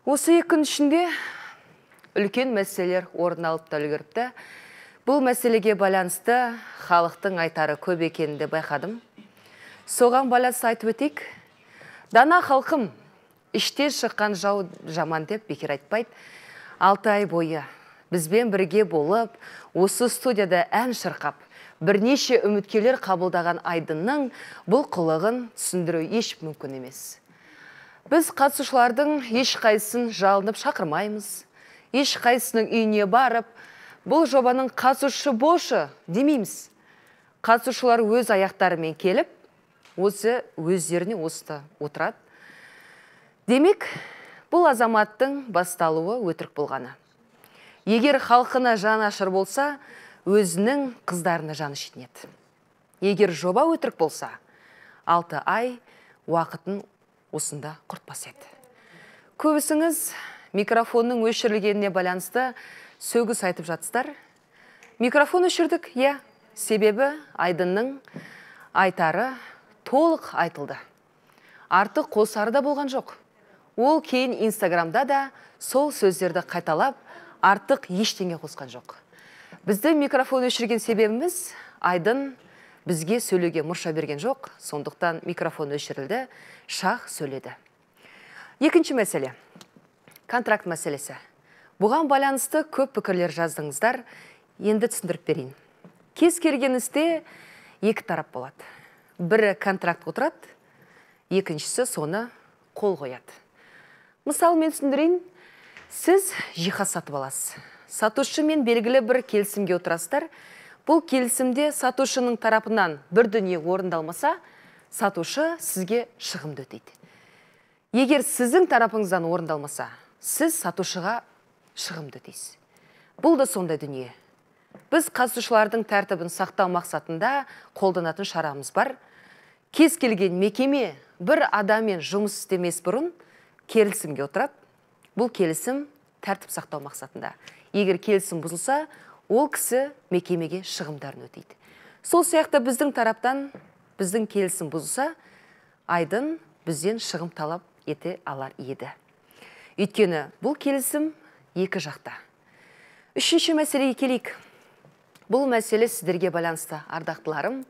Осы 2 күн ішінде үлкен мәселелер орын алып та үлгеріпті. Бұл мәселеге байланысты халықтың айтары көп екенінде байқадым. Соған байланысты айтып өтейік. Дана халқым, іште шыққан жау жаман деп бекер айтпайды. 6 ай бойы бізбен бірге болып, осы студияда ән шырқап, бірнеше үміткерлер қабылдаған Айдынның бұл қылығын түсіндіру еш мүмкін емес. Біз қатысушылардың ешқайсысын жалынып шақырмаймыз. Ешқайсының үйіне барып, бұл жобаның қатысушы болшы демейміз. Қатысушылар өз аяқтарымен келіп, өздеріне осыда отырады. Демек, бұл азаматтың басталуы өтірік болғаны. Егер халқына жан ашыр болса, өзінің қыздарына жаны шетінеді. Егер жоба өтірік болса, 6 ай уақытын осында құртпас еді. Көбісіңіз микрофонның өшірілгеніне байланысты сөгіс айтып жатсыздар. Микрофон өшірдік, себебі Айдынның айтары толық айтылды. Артық қосары да болған жоқ. Ол кейін Инстаграмда да сол сөздерді қайталап, артық ештеңе қосқан жоқ. Бізді микрофон өшірген себебіміз Айдын бізге сөйлеуге мұрша берген жоқ, сондықтан микрофон өшірілді, шах сөйледі. Екінші мәселе. Контракт мәселесі. Бұған байланысты көп пікірлер жаздыңыздар, енді түсіндіріп берейін. Кез келген істе 2 тарап болады. Бірі контракт отырады, екіншісі соны қол қояды. Мысалы, мен түсіндірейін, сіз жиһаз сатып аласыз. Сатушымен белгілі бір келісімге отырасыздар. Бұл келісімде сатушының тарапынан бір дүние орындалмаса, сатушы сізге шығымды өтейді. Егер сіздің тарапыңыздан орындалмаса, сіз сатушыға шығымды өтейсіз. Бұл да сондай дүние. Біз қатысушылардың тәртібін сақтау мақсатында қолданатын шарамыз бар. Кез келген мекеме бір адаммен жұмыс істемес бұрын келісімге отырады. Бұл келісім тәртіп сақтау мақсатында. Егер келісім бұзылса, ол кісі мекемеге шығымдарын өтейді. Сол сияқты біздің тараптан біздің келісім бұзылса, Айдын бізден шығым талап ете алар еді. Өйткені бұл келісім 2 жақта. Үшінші мәселеге келейік. Бұл мәселе сіздерге байланысты, ардақтыларым.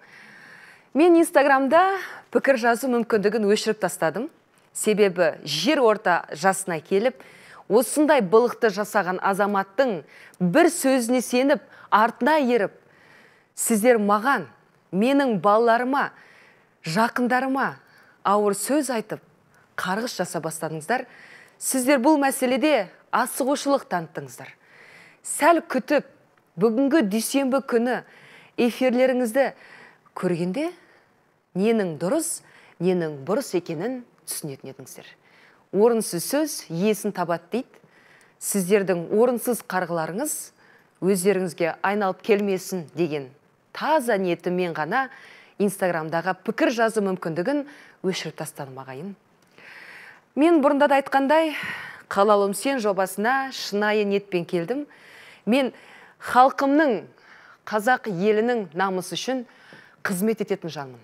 Мен Инстаграмда пікір жазу мүмкіндігін өшіріп тастадым. Себебі жер орта жасына келіп, осындай былықты жасаған азаматтың бір сөзіне сеніп, артына еріп, сіздер маған, менің балаларыма, жақындарыма ауыр сөз айтып, қарғыс жаса бастадыңыздар. Сіздер бұл мәселеде асығушылық таныттыңыздар. Сәл күтіп, бүгінгі дүйсенбі күні эфирлеріңізді көргенде, ненің дұрыс, ненің бұрыс екенін түсінетін едіңіздер. Орынсыз сөз иесін табады дейді. Сіздердің орынсыз қарғыларыңыз өздеріңізге айналып келмесін деген таза ниетіммен ғана Инстаграмдағы пікір жазу мүмкіндігін өшіріп тастадым ағайын. Мен бұрында да айтқандай, қалалым сен жобасына шынайы ниетпен келдім. Мен халқымның, қазақ елінің намысы үшін қызмет ететін жанмын.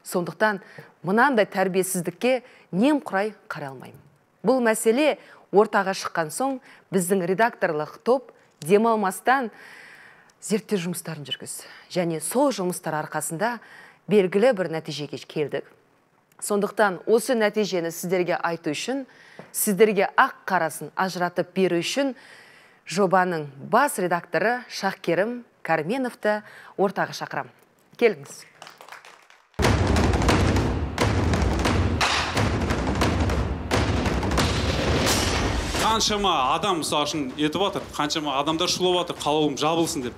Сондықтан мынандай тәрбиесіздікке немқұрай қарай алмаймын. Бұл мәселе ортаға шыққан соң біздің редакторлық топ демалмастан зерттеу жұмыстарын жүргізді. Және сол жұмыстар арқасында белгілі бір нәтижеге келдік. Сондықтан осы нәтижені сіздерге айту үшін, сіздерге ақ қарасын ажыратып беру үшін жобаның бас редакторы Шахкерім Карменовты ортаға шақырам. Келіңіз. Қаншама адам мысалы үшін етіп атыр, қаншама адамдар шулап атыр, қалауым жабылсын деп.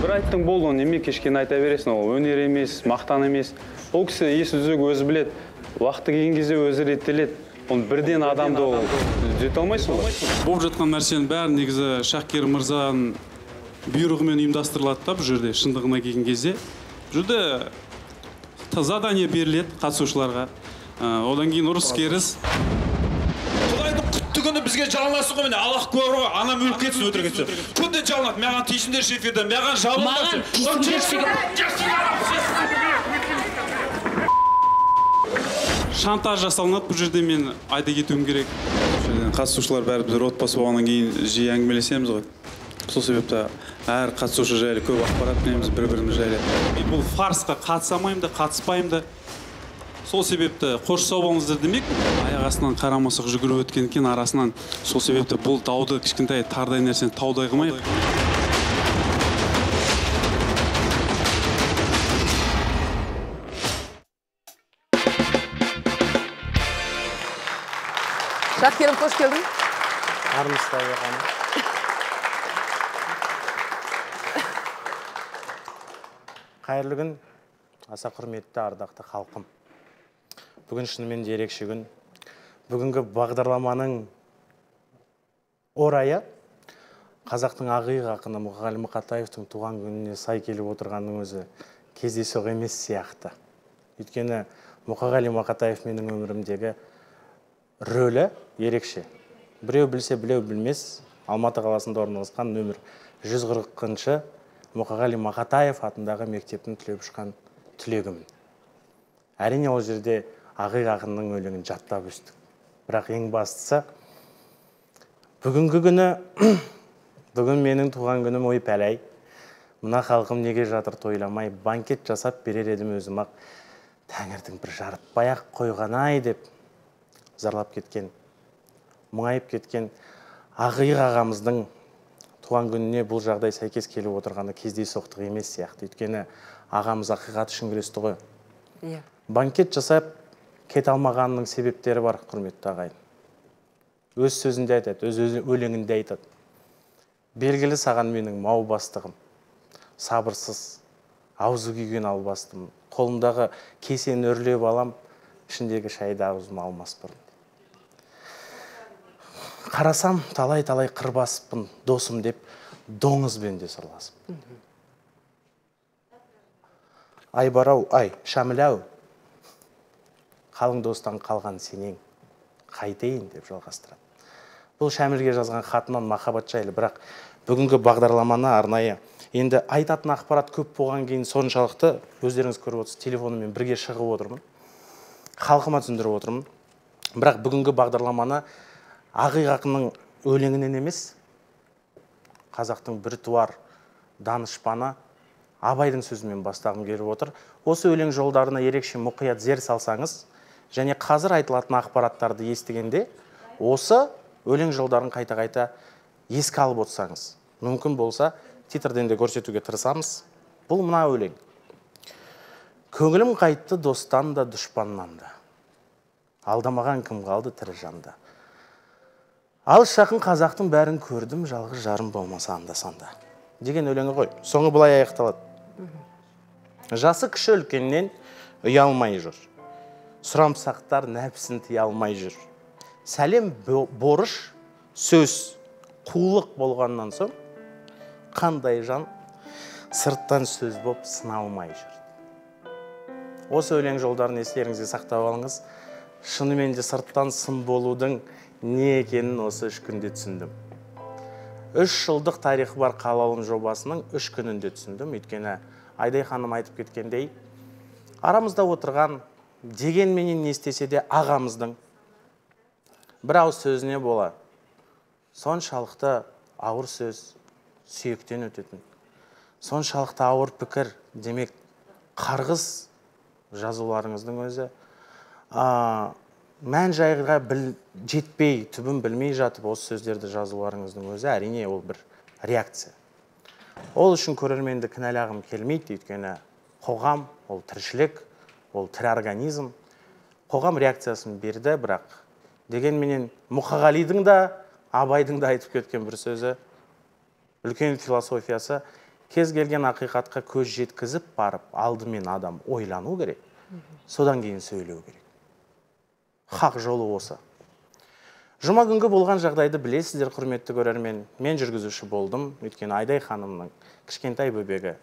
Бір айттың болды, неме кешкен айта бересің, ол өнер емес, мақтан емес. Ол кісі есі үзігі өзі білет, уақыты келген кезде өзі реттелет. Оны бірден адамды түзете алмайсың ғой. Болып жатқан нәрсенің бәрі негізі Шахкер мырзаның бұйрығымен ұйымдастырылады да бұл жерде, шындығына келген кезде. Бұл жерде задание беріледі қатысушыларға. Одан кейін ұрыс керіс. Күні бізге жалынасың ғой, мені Аллах куә ғой, анам өліп кетсін өтірік етсе. Күнде жалынады, маған тиісіңдер шеферді, маған жалынады. шантаж жасалынады бұл жерде, мен айта кетуім керек. Қатысушылар бәріміз отбасы болғаннан кейін жиі әңгімелесеміз ғой. Сол себепті әр қатысушы жайлы көп ақпарат білеміз бір-біріміз жайлы. Мен бұл фарсқа қатысамаймын да, қатыспаймын да. Сол себепті қош сау болыңыздар демек, аяқ астынан қарамасық жүгіріп өткен екен арасынан. Сол себепті бұл дауды кішкентай тардай нәрсені таудай қылмайық. Шакерім, қош келдің. Армыстай ағаным. Қайырлы күн, аса құрметті ардақты халқым. Бүгін шынымен де ерекше күн. Бүгінгі бағдарламаның орайы қазақтың ақиық ақыны Мұқағали Мақатаевтың туған күніне сай келіп отырғанның өзі кездейсоқ емес сияқты. Өйткені Мұқағали Мақатаев менің өмірімдегі рөлі ерекше. Біреу білсе, біреу білмес, Алматы қаласында орналасқан нөмір 140-шы Мұқағали Мақатаев атындағы мектептің түлеп ұшқан түлегімін. Әрине ол жерде ақиық ақынның өлеңін жаттап өстік. Бірақ ең бастысы, бүгінгі күні, бүгін менің туған күнім ой пәләй. Мына халқым неге жатыр тойламай, банкет жасап берер едім өзім ақ. Тәңірдің бір жарытпай-ақ қойған-ай деп зарлап кеткен, мұңайып кеткен ақиық ағамыздың туған күніне бұл жағдай сәйкес келіп отырғаны кездейсоқтық емес сияқты. Өйткені ағамыз ақиқат үшін күресті ғой. Банкет жасап кете алмағанның себептері бар, құрметті ағайын. Өз сөзінде айтады, өз өлеңінде айтады. Белгілі саған менің мау бастығым, сабырсыз, аузы күйген албастым. Қолымдағы кесені үрлеп алам, ішіндегі шайды аузыма алмас бұрын. Қарасам, талай-талай қырбасыппын, досым деп, доңызбен де сырласып. Ай барау, ай, шамілау, қалың достан қалған сенең, қайтейін деп жалғастырады. Бұл Шәмілге жазған хатынан махаббат жайлы, бірақ бүгінгі бағдарламаны арнайы. Енді айтатын ақпарат көп болған кейін соншалықты, өздеріңіз көріп отырсыз, телефонымен бірге шығып отырмын. Халқыма түсіндіріп отырмын. Бірақ бүгінгі бағдарламаны ақиық ақынның өлеңінен емес, қазақтың біртуар данышпаны Абайдың сөзімен бастағым келіп отыр. Осы өлең жолдарына ерекше мұқият зер салсаңыз, және қазір айтылатын ақпараттарды естігенде, осы өлең жолдарын қайта-қайта еске алып отырсаңыз, мүмкін болса, титрден де көрсетуге тырысамыз. Бұл мына өлең. Көңілім қайтты достан да, дұшпаннан да. Алдамаған кім қалды тірі жанда. Алыс жақын қазақтың бәрін көрдім, жалғыз жарым болмаса анда-санда. Деген өлеңі ғой. Соңы былай аяқталады. Жасы кіші үлкеннен ұялмай жүр. Сұрамсақтар нәпсін тия алмай жүр. Сәлем борыш, сөз, қулық болғаннан соң, қандай жан сырттан сөз боп сыналмай жүр. Осы өлең жолдарын естеріңізге сақтап алыңыз. Шынымен де сырттан сын болудың не екенін осы 3 күнде түсіндім. 3 жылдық тарихы бар қалалым жобасының 3 күнінде түсіндім. Өйткені Айдай ханым айтып кеткендей, арамызда отырған дегенменен не істесе де ағамыздың бір ауыз сөзіне бола соншалықты ауыр сөз сүйектен өтетін. Соншалықты ауыр пікір, демек қарғыс жазуларыңыздың өзі мән жайға жетпей, түбін білмей жатып осы сөздерді жазуларыңыздың өзі әрине ол бір реакция. Ол үшін көрерменді кінәлағым келмейді, өйткені қоғам, ол тіршілік, ол тірі организм. Қоғам реакциясын берді, бірақ дегенменен Мұқағалидың да, Абайдың да айтып кеткен бір сөзі, үлкен философиясы, кез келген ақиқатқа көз жеткізіп барып, алдымен адам ойлану керек, содан кейін сөйлеу керек. Хақ жолы осы. Жұма күнгі болған жағдайды білесіздер, құрметті көрермен. Мен жүргізуші болдым, өйткені Айдай ханымның кішкентай бөбегі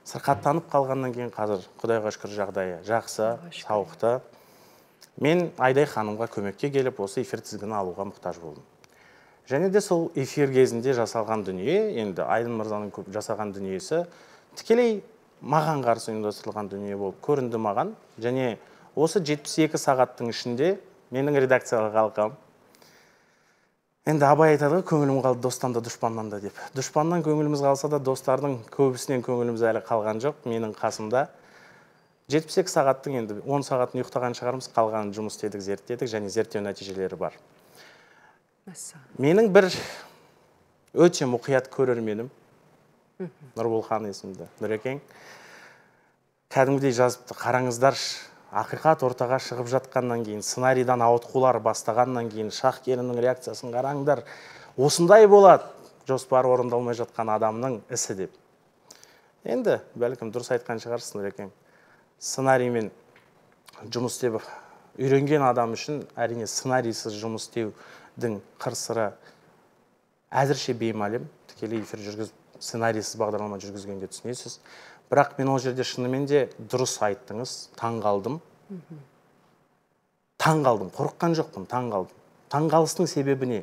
сырқаттанып қалғаннан кейін қазір Құдайға шүкір жағдайы жақсы, сауықты. Мен Айдай ханымға көмекке келіп, осы эфир тізгінін алуға мұқтаж болдым. Және де сол эфир кезінде жасалған дүние, енді Айдын мырзаның жасаған дүниесі тікелей маған қарсы ұйымдастырылған дүние болып көрінді маған. Және осы 72 сағаттың ішінде менің редакцияға қалқам. Енді абай айтады ғой, көңілім қалды достан да дұшпаннан да деп. Дұшпаннан көңіліміз қалса да, достардың көбісінен көңіліміз әлі қалған жоқ. Менің қасымда 72 сағаттың енді 10 сағатын ұйықтаған шығармыз, қалғанын жұмыс істедік, зерттедік және зерттеу нәтижелері бар. Менің бір өте мұқият көрерменім, Нұрболхан есімді Нұрекең, кәдімгідей жазыпты, қараңыздар, ақиқат ортаға шығып жатқаннан кейін, сценарийдан ауытқулар бастағаннан кейін, Шахкерімнің реакциясын қараңдар, осындай болады, жоспары орындалмай жатқан адамның ісі деп. Енді, бәлкім дұрыс айтқан шығарсың, Нұрекең. Сценариймен жұмыс істеп үйренген адам үшін әрине сценарийсіз жұмыс істеудің қыр-сыры әзірше беймәлім. Тікелей эфир жүргізіп, сценарийсіз бағдарлама жүргізгенде түсінесіз. Бірақ мен ол жерде шынымен де дұрыс айттыңыз, таң қалдым. Таң қалдым, қорыққан жоқпын, таң қалдым. Таң қалыстың себебі не?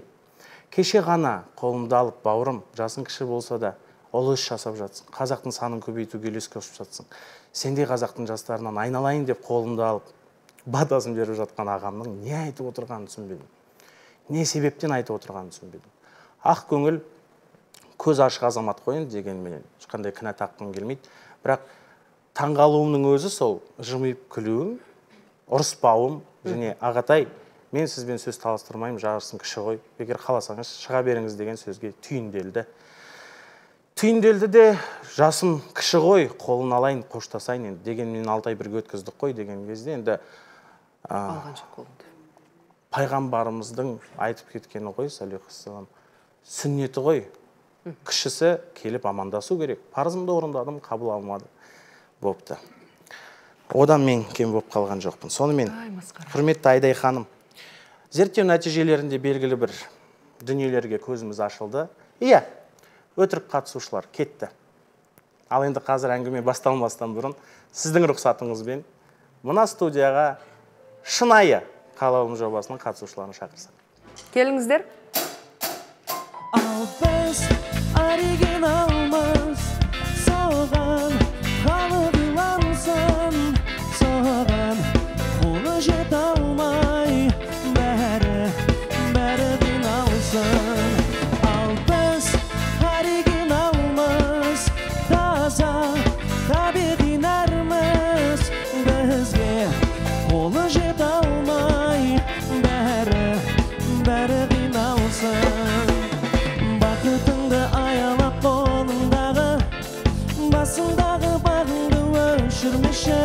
Кеше ғана қолымды алып, бауырым, жасың кіші болса да, ол іс жасап жатсың. Қазақтың санын көбейтуге үлес қосып жатсың. Сендей қазақтың жастарынан айналайын деп қолымды алып, батасын беріп жатқан ағамның не айтып отырғанын түсінбедім. Не себептен айтып отырғанын түсінбедім. Ақ көңіл, көз ашық азамат қойын дегенменен ешқандай кінә таққым келмейді. Бірақ таңғалуымның өзі сол жымиып күлуім, ұрыспауым және ағатай, мен сізбен сөз таластырмаймын, жарысың кіші ғой. Егер қаласаңыз шыға беріңіз деген сөзге түйінделді. Түйінделді де жасым кіші ғой, қолын алайын, қоштасайын енді дегенмен 6 ай бірге өткіздік қой деген кезде енді пайғамбарымыздың айтып кеткені ғой, саллаллаху сүннеті ғой. Кішісі келіп амандасу керек. Парызымды орындадым, қабыл алмады. Бопты. Одан мен кем болып қалған жоқпын. Сонымен, құрметті Айдай ханым, зерттеу нәтижелерінде белгілі бір дүниелерге көзіміз ашылды. Иә, өтірік қатысушылар кетті. Ал енді қазір әңгіме басталмастан бұрын сіздің рұқсатыңызбен мына студияға шынайы қалауым жобасының қатысушыларын шақырсақ. Келіңіздер. Ал біз оригиналмыз, соған қалып илансын, соған қолы жете алмай, бәрі қиналсын. Ал біз оригиналмыз, таза табиғи нәрміз, бізге қолы жете алмай, бәрі қиналсын. Бақытыңды аялап қолыңдағы, басыңдағы бағыңды өшірмеші.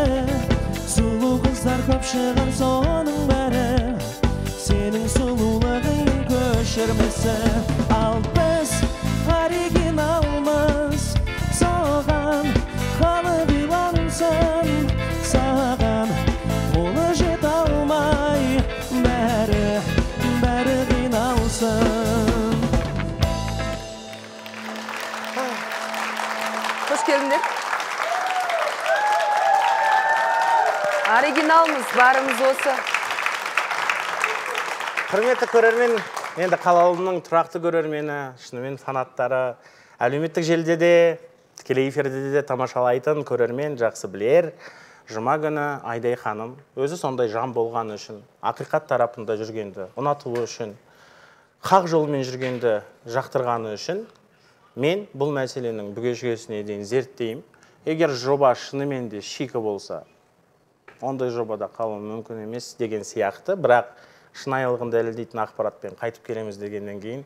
Сұлу қыздар көп шығар соның бәрі, сенің сұлулығың көшірмесі. Ал біз оригиналмыз, соған қалып илансын, саған қолы жете алмай, бәрі қиналсын. Hoş geldiniz. Оригиналмыз, барымыз осы. Құрметті көрермен, енді қалауымның тұрақты көрермені, шынымен фанаттары, әлеуметтік желіде де, тікелей эфирде де тамашалайтын көрермен жақсы білер. Жұма күні Айдай ханым өзі сондай жан болған үшін, ақиқат тарапында жүргенді ұнатуы үшін, хақ жолмен жүргенді жақтырғаны үшін, мен бұл мәселенің бүге-шүгесіне дейін зерттеймін. Егер жоба шынымен де шикі болса, ондай жобада қалу мүмкін емес деген сияқты, бірақ шынайылығын дәлелдейтін ақпаратпен қайтып келеміз дегеннен кейін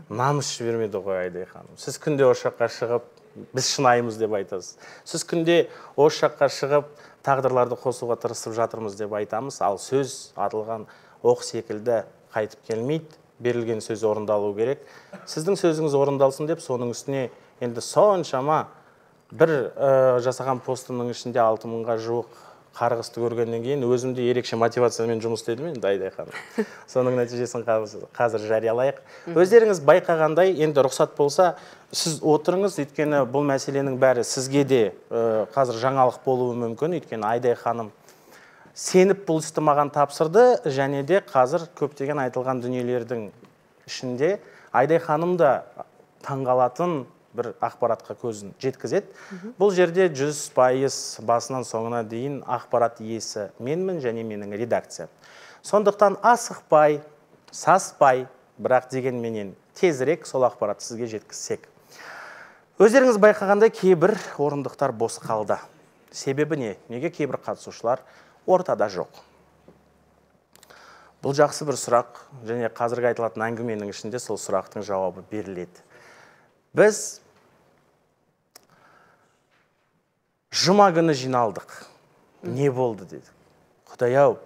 намыс жібермеді ғой Айдай ханым. Сіз күнде осы жаққа шығып, біз шынайымыз деп айтасыз. Сіз күнде осы жаққа шығып, тағдырларды қосуға тырысып жатырмыз деп айтамыз, ал сөз атылған оқ секілді қайтып келмейді. Берілген сөз орындалу керек. Сіздің сөзіңіз орындалсын деп, соның үстіне енді соншама бір жасаған постымның ішінде 6000-ға жуық қарғысты көргеннен кейін өзімде ерекше мотивациямен жұмыс істедім енді Айдай ханым. Соның нәтижесін қазір жариялайық. Өздеріңіз байқағандай, енді рұқсат болса, сіз отырыңыз, өйткені бұл мәселенің бәрі сізге де қазір жаңалық болуы мүмкін, өйткені Айдай ханым сеніп бұл істі маған тапсырды, және де қазір көптеген айтылған дүниелердің ішінде Айдай ханым да таңғалатын бір ақпаратқа көзін жеткізеді. Бұл жерде 100% басынан соңына дейін ақпарат иесі менмін және менің редакция. Сондықтан асықпай, саспай, бірақ дегенменен тезірек сол ақпаратты сізге жеткізсек. Өздеріңіз байқағандай кейбір орындықтар бос қалды. Себебі не? Неге кейбір қатысушылар ортада жоқ? Бұл жақсы бір сұрақ, және қазіргі айтылатын әңгіменің ішінде сол сұрақтың жауабы беріледі. Біз жұма күні жиналдық. Не болды дедік. Құдай-ау,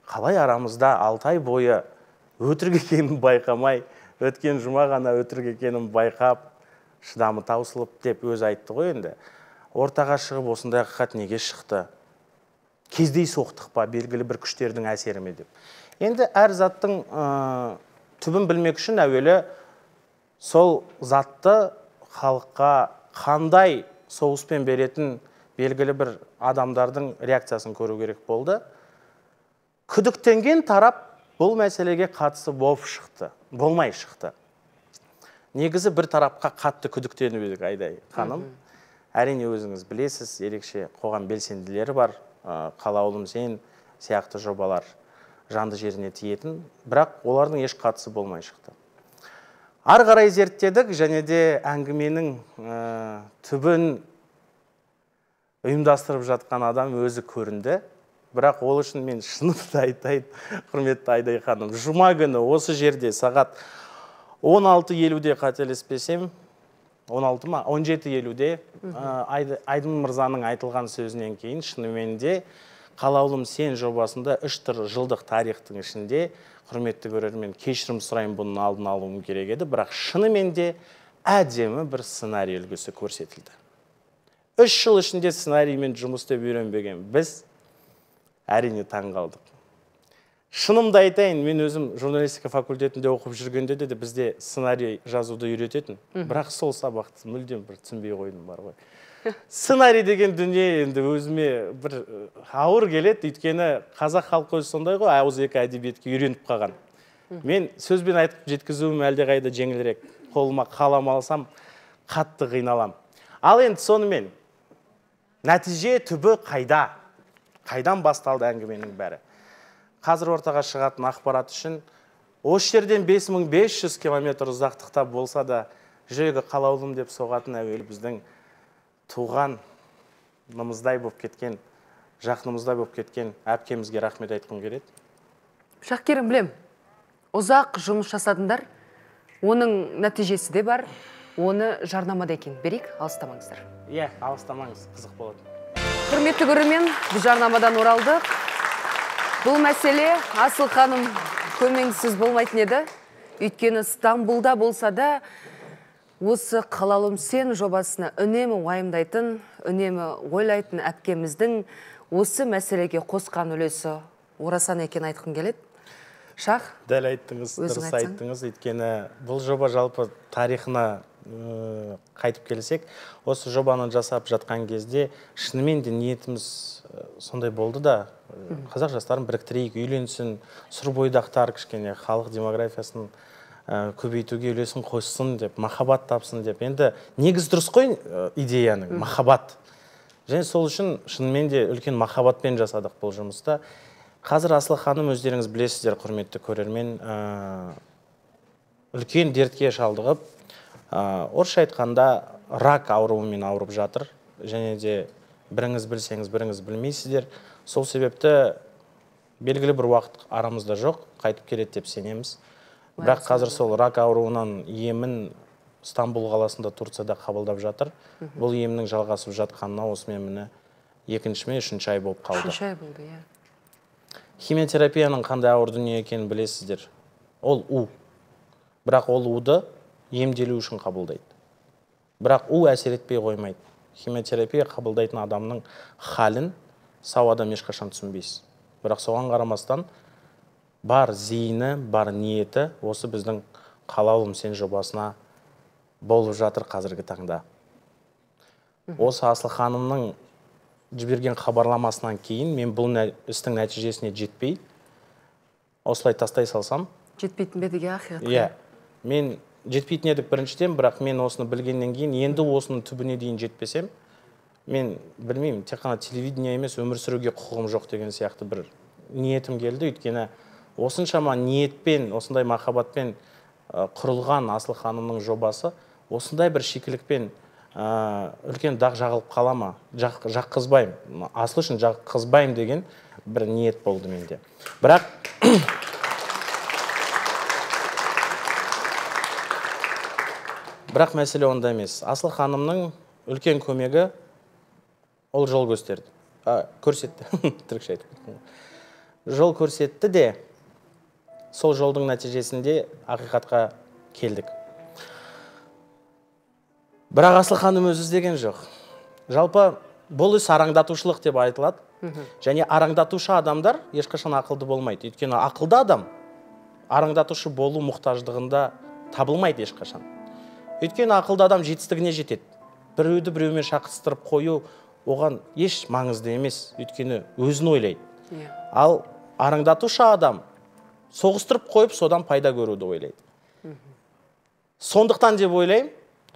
қалай арамызда 6 ай бойы өтірік екенін байқамай, өткен жұма ғана өтірік екенін байқап, шыдамы таусылып деп өзі айтты ғой енді. Ортаға шығып осындай ақиқат неге шықты? Кездей соқтық па, белгілі бір күштердің әсері ме деп. Енді әр заттың түбін білмек үшін әуелі сол затты халыққа қандай соғыспен беретін белгілі бір адамдардың реакциясын көру керек болды. Күдіктенген тарап бұл мәселеге қатысы болып шықты, болмай шықты. Негізі бір тарапқа қатты күдіктеніп едік, Айдай ханым. Әрине өзіңіз білесіз, ерекше қоғам белсенділері бар, қалаулым сен сияқты жобалар жанды жеріне тиетін, бірақ олардың еш қатысы болмай шықты. Ары қарай зерттедік, және де әңгіменің түбін ұйымдастырып жатқан адам өзі көрінді. Бірақ ол үшін мен шынымды айтайын, құрметті Айдай ханым, жұма күні осы жерде сағат 16:50-де қателеспесем, 16 ма? 17:50-де Айдын мырзаның айтылған сөзінен кейін шынымен де қалаулым сен жобасында 3 жылдық тарихтың ішінде, құрметті көрермен, кешірім сұрайын, бұның алдын алуым керек еді, бірақ шынымен де әдемі бір сценарий үлгісі көрсетілді. 3 жыл ішінде сценариймен жұмыс істеп үйренбеген біз әрине таң қалдық. Шынымды айтайын, мен өзім журналистика факультетінде оқып жүргенде де бізде сценарий жазуды үйрететін, бірақ сол сабақты мүлдем бір түсінбей қойдым бар ғой. Сценарий деген дүние енді өзіме бір ауыр келеді, өйткені қазақ халқы өзі сондай ғой, ауызекі әдебиетке үйреніп қалған. Мен сөзбен айтып жеткізуім әлде қайда жеңілірек, қолыма қалам алсам қатты қиналам. Ал енді сонымен нәтиже түбі қайда? Қайдан басталды әңгіменің бәрі? Қазір ортаға шығатын ақпарат үшін осы жерден 5500 километр ұзақтықта болса да жүрегі қалаулым деп соғатын әуелі біздің туғанымыздай болып кеткен, жақынымыздай болып кеткен әпкемізге рахмет айтқым келеді. Шақкерім, білем, ұзақ жұмыс жасадыңдар, оның нәтижесі де бар, оны жарнамада екен. Берейік, алыстамаңыздар. Иә, алыстамаңыз, қызық болады. Құрметті көрермен, біз жарнамадан оралдық. Бұл мәселе Асыл ханым көмеңсіз болмайтын еді. Өйткені Стамбулда болса да, осы қалаулым сен жобасына үнемі уайымдайтын, үнемі ойлайтын әпкеміздің осы мәселеге қосқан үлесі орасан екен айтқым келеді. Шах? Дәл айттыңыз, дұрыс айттыңыз. Өйткені бұл жоба жалпы тарихына қайтып келсек, осы жобаны жасап жатқан кезде шынымен де ниетіміз сондай болды да, қазақ жастарын біріктірейік, үйленсін, сұр бойдақтар кішкене халық демографиясын көбейтуге үлесін қоссын деп, махаббат тапсын деп. Енді негіз дұрыс қой идеяның, махаббат. Және сол үшін шынымен де үлкен махаббатпен жасадық бұл жұмыста. Қазір Асыл ханым өздеріңіз білесіздер, құрметті көрермен, үлкен дертке шалдығып, орысша айтқанда рак ауруымен ауырып жатыр. Және де біріңіз білсеңіз, біріңіз білмейсіздер. Сол себепті белгілі бір уақыт арамызда жоқ, қайтып келеді деп сенеміз. Бірақ қазір сол рак ауруынан емін Стамбул қаласында, Турцияда қабылдап жатыр. Бұл емнің жалғасып жатқанына осымен міне 2-ші ме 3-ші ай болып қалды. 3-ші ай болды, иә. Химиотерапияның қандай ауыр дүние екенін білесіздер. Ол у. Бірақ ол уды емделу үшін қабылдайды. Бірақ у әсер етпей қоймайды. Химиотерапия қабылдайтын адамның халін сау адам ешқашан түсінбейсіз. Бірақ соған қарамастан бар зейіні, бар ниеті осы біздің қалаулым сен жобасына болып жатыр қазіргі таңда. Осы Асыл ханымның жіберген хабарламасынан кейін мен бұл істің нәтижесіне жетпей, осылай тастай салсам. Жетпейтін бе деге ақиқат. Иә, мен жетпейтін едік біріншіден, бірақ мен осыны білгеннен кейін, енді осының түбіне дейін жетпесем, мен білмеймін, тек қана телевидение емес, өмір сүруге құқығым жоқ деген сияқты бір ниетім келді. Өйткені осыншама ниетпен, осындай махаббатпен құрылған Асыл ханымның жобасы осындай бір шикілікпен үлкен дақ жағылып қала ма? Жаққызбаймын. Асыл үшін жаққызбаймын деген бір ниет болды менде. Бірақ мәселе онда емес. Асыл ханымның үлкен көмегі ол жол көрсетті. Түрікше айтып. Жол көрсетті де, сол жолдың нәтижесінде ақиқатқа келдік. Бірақ Асыл ханым өзі іздеген жоқ. Жалпы бұл іс араңдатушылық деп айтылады. Және араңдатушы адамдар ешқашан ақылды болмайды. Өйткені ақылды адам араңдатушы болу мұқтаждығында табылмайды ешқашан. Өйткені ақылды адам жетістігіне жетеді. Біреуді біреумен шақыстырып қою оған еш маңызды емес. Өйткені өзін ойлайды. Ал араңдатушы адам соғыстырып қойып, содан пайда көруді ойлайды. Сондықтан деп ойлаймын,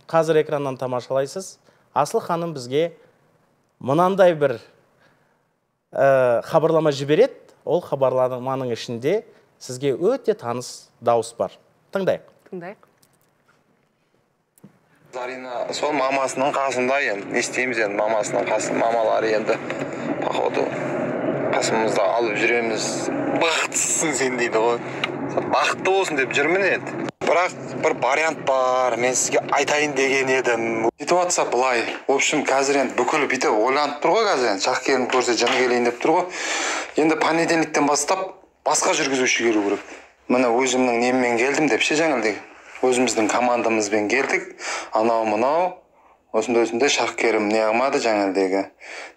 қазір экраннан тамашалайсыз, Асыл ханым бізге мынандай бір хабарлама жібереді. Ол хабарламаның ішінде сізге өте таныс дауыс бар. Тыңдайық. Зарина сол мамасының қасында енді, не істейміз енді, мамасының қасында, мамалары енді, походу, қасымызда алып жүреміз. Бақыттысың сен дейді ғой. Бақытты болсын деп жүрмін енді. Бірақ бір вариант бар, мен сізге айтайын деген едім. Ситуация былай. В общем, қазір енді бүкіл бүйтіп ойланып тұр ғой қазір енді, Шақкерім көрсе жаны келейін деп тұр ғой. Енді понедельниктен бастап басқа жүргізуші келу керек. Міне өзімнің неммен келдім деп ше жаңылдегі. Өзіміздің командамызбен келдік. Анау-мынау осындай Шақкерім не қылмады жаңылдегі.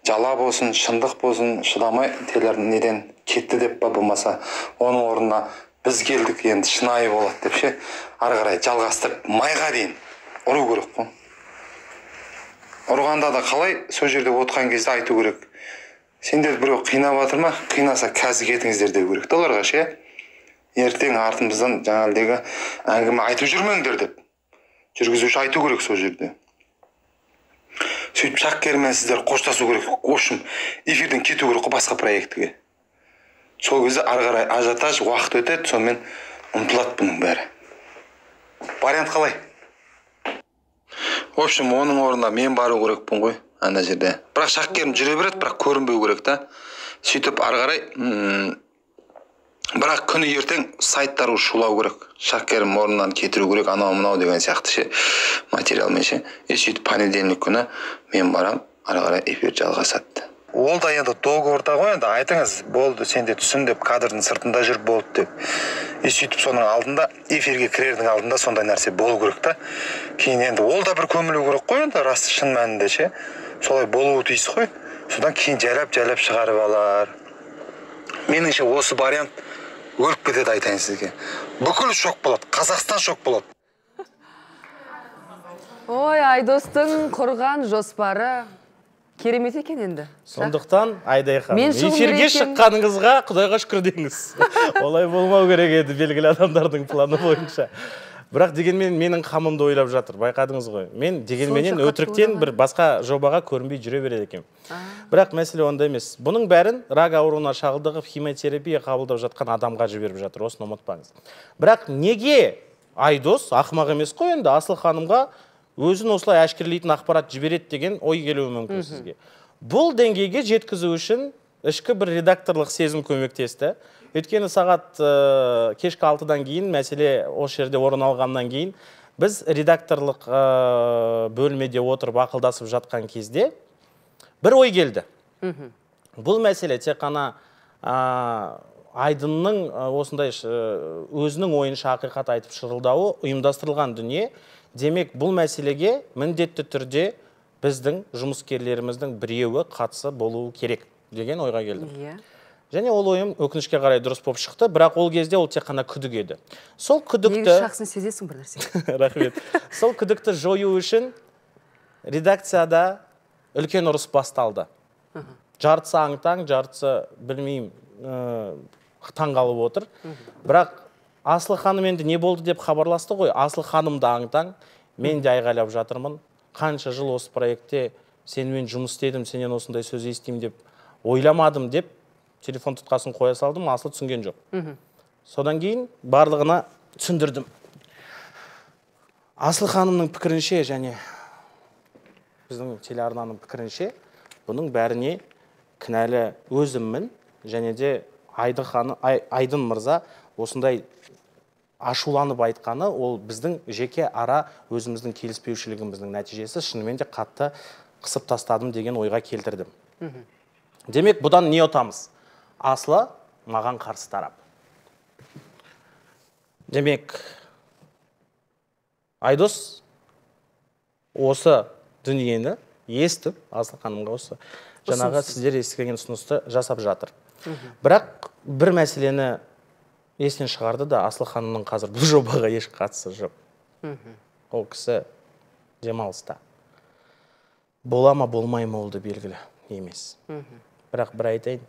Жала болсын, шындық болсын, шыдамай неден кетті деп па болмаса, оның орнына біз келдік енді шынайы болады деп ше. Ары қарай жалғастырып майға дейін ұру керек қой. Ұрғанда да қалай сол жерде отырған кезде айту керек. Сендер біреу қинап жатыр ма? Қинаса қазір кетіңіздер деу керек. Оларға ше. Ертең артымыздан жаңалдегі әңгіме айтып жүрмеңдер деп. Жүргізуші айту керек сол жерде. Сөйтіп Шақкермен сіздер қоштасу керек. Общем, эфирден кету керек басқа проектіге. Сол кезде ары қарай ажиотаж уақыт өтеді, сонымен ұмытылады бұның бәрі. Вариант қалай? В общем, оның орнына мен бару керекпін ғой, ана жерде. Бірақ Шақкерім жүре береді, бірақ көрінбеу керек та. Сөйтіп ары қарай бірақ күні ертең сайттары шулау керек. Шақкерім орнынан кетіру керек, анау-мынау деген сияқты ше материалмен ше. Сөйтіп понедельник күні мен барам, ары қарай эфир жалғасады. Ол да енді договорда ғой енді, айтыңыз, болды, сенде түсін деп, кадрдың сыртында жүр болды деп. Сөйтіп соның алдында, эфирге кірердің алдында сондай нәрсе болу керек та. Кейін енді ол да бір көмілу керек қой енді, рас шын мәнінде ше. Солай болуы тиіс қой. Содан кейін жайлап шығарып алар. Меніңше осы вариант өліп кетеді айтайын сізге. Бүкіл шок болады, Қазақстан шок болады. Ой, Айдостың құрған жоспары керемет екен енді. Сондықтан Айдай ханым, эфирге шыққаныңызға Құдайға шүкір деңіз. Олай болмау керек еді белгілі адамдардың планы бойынша. Бірақ дегенмен менің қамымды ойлап жатыр, байқадыңыз ғой. Мен дегенменен өтіріктен бір басқа жобаға көрінбей жүре береді екен. Бірақ мәселе онда емес. Бұның бәрін рак ауруына шағылдығып химиотерапия қабылдап жатқан адамға жіберіп жатыр, осыны ұмытпаңыз. Бірақ неге Айдос ақымақ емес қой енді Асыл ханымға өзін осылай әшкерлейтін ақпарат жібереді деген ой келуі мүмкін сізге. Бұл деңгейге жеткізу үшін ішкі бір редакторлық сезім көмектесті. Өйткені сағат кешкі 6-дан кейін, мәселе осы жерде орын алғаннан кейін, біз редакторлық бөлмеде отырып ақылдасып жатқан кезде бір ой келді. Бұл мәселе тек қана Айдынның осындай өзінің ойынша ақиқат айтып шырылдауы ұйымдастырылған дүние. Демек, бұл мәселеге міндетті түрде біздің жұмыскерлеріміздің біреуі қатысы болуы керек деген ойға келдім. Және ол ойым өкінішке қарай дұрыс болып шықты, бірақ ол кезде ол тек қана күдік еді. Сол күдікті... Негіз шақсын сезесің бір нәрсе. Рахмет. Сол күдікті жою үшін редакцияда үлкен ұрыс басталды. Жартысы аң-таң, жартысы білмеймін, таң қалып отыр. Бірақ Асыл ханым енді не болды деп хабарласты ғой. Асыл ханым да аң-таң, мен де айғайлап жатырмын. Қанша жыл осы проектте сенімен жұмыс істедім, сенен осындай сөз естеймін деп ойламадым деп телефон тұтқасын қоя салдым, Асыл түсінген жоқ. Содан кейін барлығына түсіндірдім. Асыл ханымның пікірінше және біздің телеарнаның пікірінше бұның бәріне кінәлі өзіммін, және де Айдын мырза осындай ашуланып айтқаны, ол біздің жеке ара өзіміздің келіспеушілігіміздің нәтижесі, шынымен де қатты қысып тастадым деген ойға келтірдім. Демек, бұдан не ұтамыз? Асылы маған қарсы тарап. Демек, Айдос осы дүниені естіп, Асыл ханымға осы жаңағы сіздер естіген ұсынысты жасап жатыр. Бірақ бір мәселені есінен шығарды да, Асыл ханымның қазір бұл жобаға еш қатысы жоқ. Ол кісі демалыста. Бола ма, болмай ма олды белгілі емес. Бірақ бір айтайын,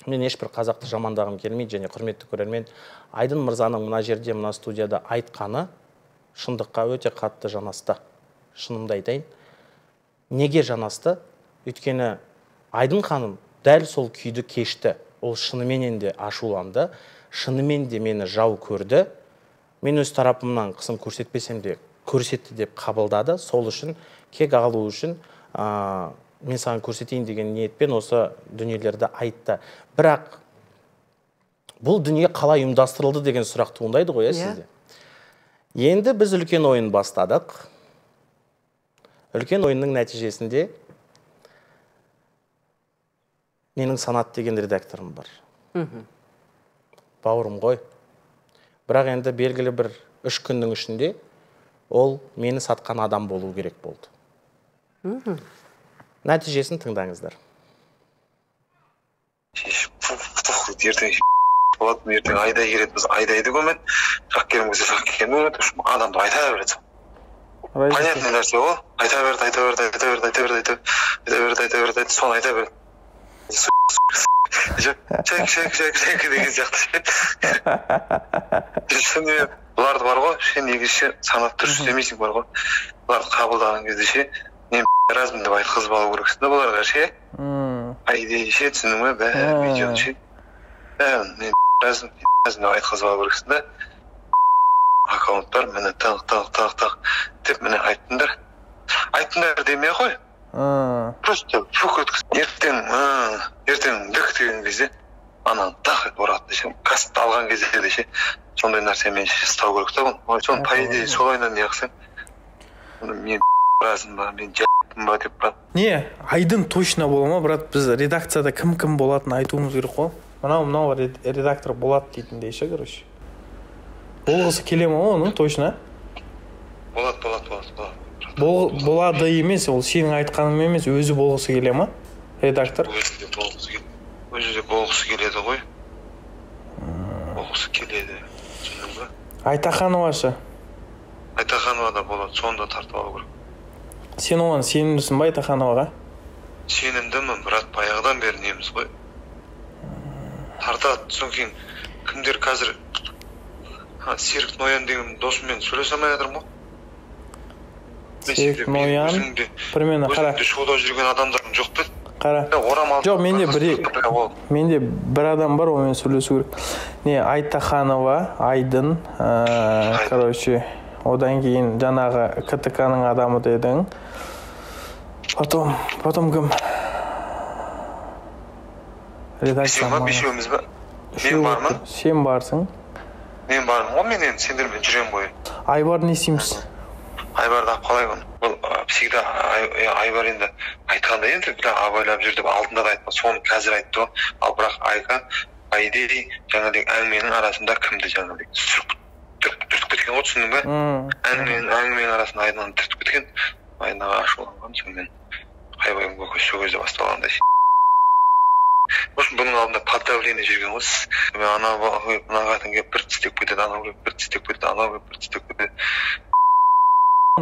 мен ешбір қазақты жамандағым келмейді, және құрметті көрермен, Айдын мырзаның мына жерде, мына студияда айтқаны шындыққа өте қатты жанасты. Шынымды айтайын. Неге жанасты? Өйткені Айдын ханым дәл сол күйді кешті. Ол шынымен де ашуланды, шынымен де мені жау көрді. Мен өз тарапымнан қысым көрсетпесем де көрсетті деп қабылдады. Сол үшін, кек алу үшін мен саған көрсетейін деген ниетпен осы дүниелерді айтты. Бірақ бұл дүние қалай ұйымдастырылды деген сұрақ туындайды ғой сізде. Енді біз үлкен ойын бастадық. Үлкен ойынның нәтижесінде менің Санат деген редакторым бар. Бауырым ғой. Бірақ енді белгілі бір 3 күннің ішінде ол мені сатқан адам болу керек болды. Нәтижесін тыңдаңыздар. Ертең болады, ертең айдай келеді, біз айдайды көмет, шақкерім көзе шақкерім көмет, адамды айта береді. Понятный нәрсе ол, айта береді, соны айта береді. Шәк деген сияқты. Бұларды бар ғой, негізше санат дұрыс істемейсің бар ғой. Бұларды қабылдаған кезде ше, мен размын деп айтқызып алу керексің да бұларға ше. Айдей ше, түсінің ме, видеоны ше. Мен размын деп айтқызып алу керексің да. Аккаунттар мені тақ деп мені айттыңдар. Айттыңдар демей қой. Просто фук өткіз. Ертең дүк деген кезде ананы тақ етіп ұрады десе, кәсіпті алған кезде десе, сондай нәрсе мен ұстау керек та бұны. Соны по идее солайынан не қылсаң, мен разым ба, мен жаттым ба деп брат. Не, Айдын точно бола ма, брат? Біз редакцияда кім болатынын айтуымыз керек қой. Мынау редактор болады дейтіндей ше, короче. Болғысы келе ма оның точно? Болады. Болады емес, ол сенің айтқаның емес, өзі болғысы келе ма, редактор? Өзі де болғысы келеді ғой. Болғысы келеді. Айтаханова ше? Айтаханова да болады, соны да тартып алу керек. Сен оған сенімдісің ба Айтахановаға? Сенімдімін, брат, баяғыдан бері неміз ғой. Тартады, соң кейін кімдер қазір Серік Ноян деген досыммен сөйлесе алмай жатырмын ғой. Серік Ноян, примерно қара. Өзімде шоуда жүрген адамдардың жоқ па? Қара. Жоқ, менде бір адам бар, онымен сөйлесу керек. Не, Айтаханова, Айдын, короче, одан кейін жаңағы КТК-ның адамы дедің. Потом кім? Редакция ма, бешеуіміз ба? Мен бармын? Сен барсың. Мен бармын ғой, мен енді сендермен жүрем ғой. Айбар не істейміз? Айбарды алып қалай оны? Бұл всегда Айбар енді айтқанда енді абайлап жүр деп алдында да айтпа, соны қазір айтты ғой. Ал бірақ Айка, Айдей жаңағыдай әңгіменің арасында кімді жаңағыдай түртіп кеткен ғой, түсіндің бе? Әңгіменің арасында Айдынан түртіп кеткен. Айнаға ашуланған, сонымен Айбайым сол кезде басталғандай. Бұның алдында под давление жүрген ғой. Мен анау мына қатын келіп бір тістеп кетеді, анау келіп бір тістеп кетеді, анау келіп бір тістеп кетеді.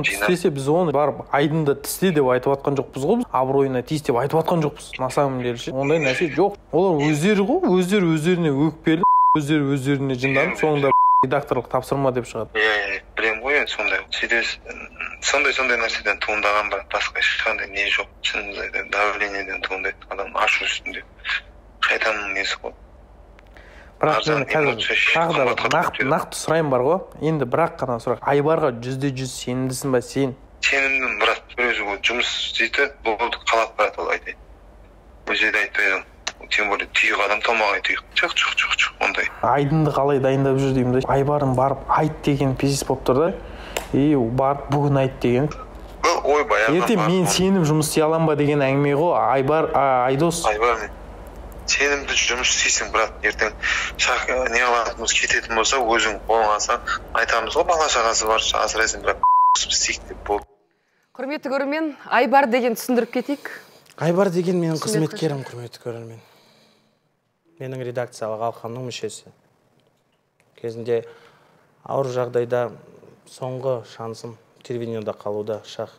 Тістесе біз оны барып Айдынды тісте деп айтып атқан жоқпыз ғой. Абыройына тиіс деп айтып атқан жоқпыз. На самом деле ше. Ондай нәрсе жоқ. Олар өздері ғой, өздеріне өкпелі. өздеріне жынданып, соңында редакторлық тапсырма деп шығады. Иә, білем ғой енді сондай. Сондай нәрседен туындаған бірақ басқа ешқандай не жоқ. Шынымды айтайын, давлениеден туындайды. Адам ашу үстінде. Шайтанның несі ғой. Бірақ мен қазір тағы да нақты сұрайым бар ғой. Енді бірақ қана сұрақ. Айбарға 100% сенімдісің ба сен? Сенімдім, бірақ бір өзі жұмыс істейді, болды қалап барады ол айтайын. Өзі де айтпайды. Тем более түйік адам толмағай түйік. Жоқ, ондай. Айдынды қалай дайындап жүр деймін да. Айбарын барып айт деген пиздец болып тұр да. Барып бүгін айт деген. Ойбай. Ертең мен сенім жұмыс істей аламын ба деген әңгіме ғой. Айдос. Айбар мен сенімді жұмыс істейсің, бірақ ертең не қылатынымыз кететін болса, өзің қолың алсаң айтамыз ғой, бала шағасы бар, асырайсың, бірақ істейік деп болды. Құрметті көрермен, Айбар деген түсіндіріп кетейік. Айбар деген менің қызметкерім, құрметті көрермен. Менің редакциялық алқамның мүшесі. Кезінде ауыр жағдайда соңғы шансым телевидениеда қалуда, шақ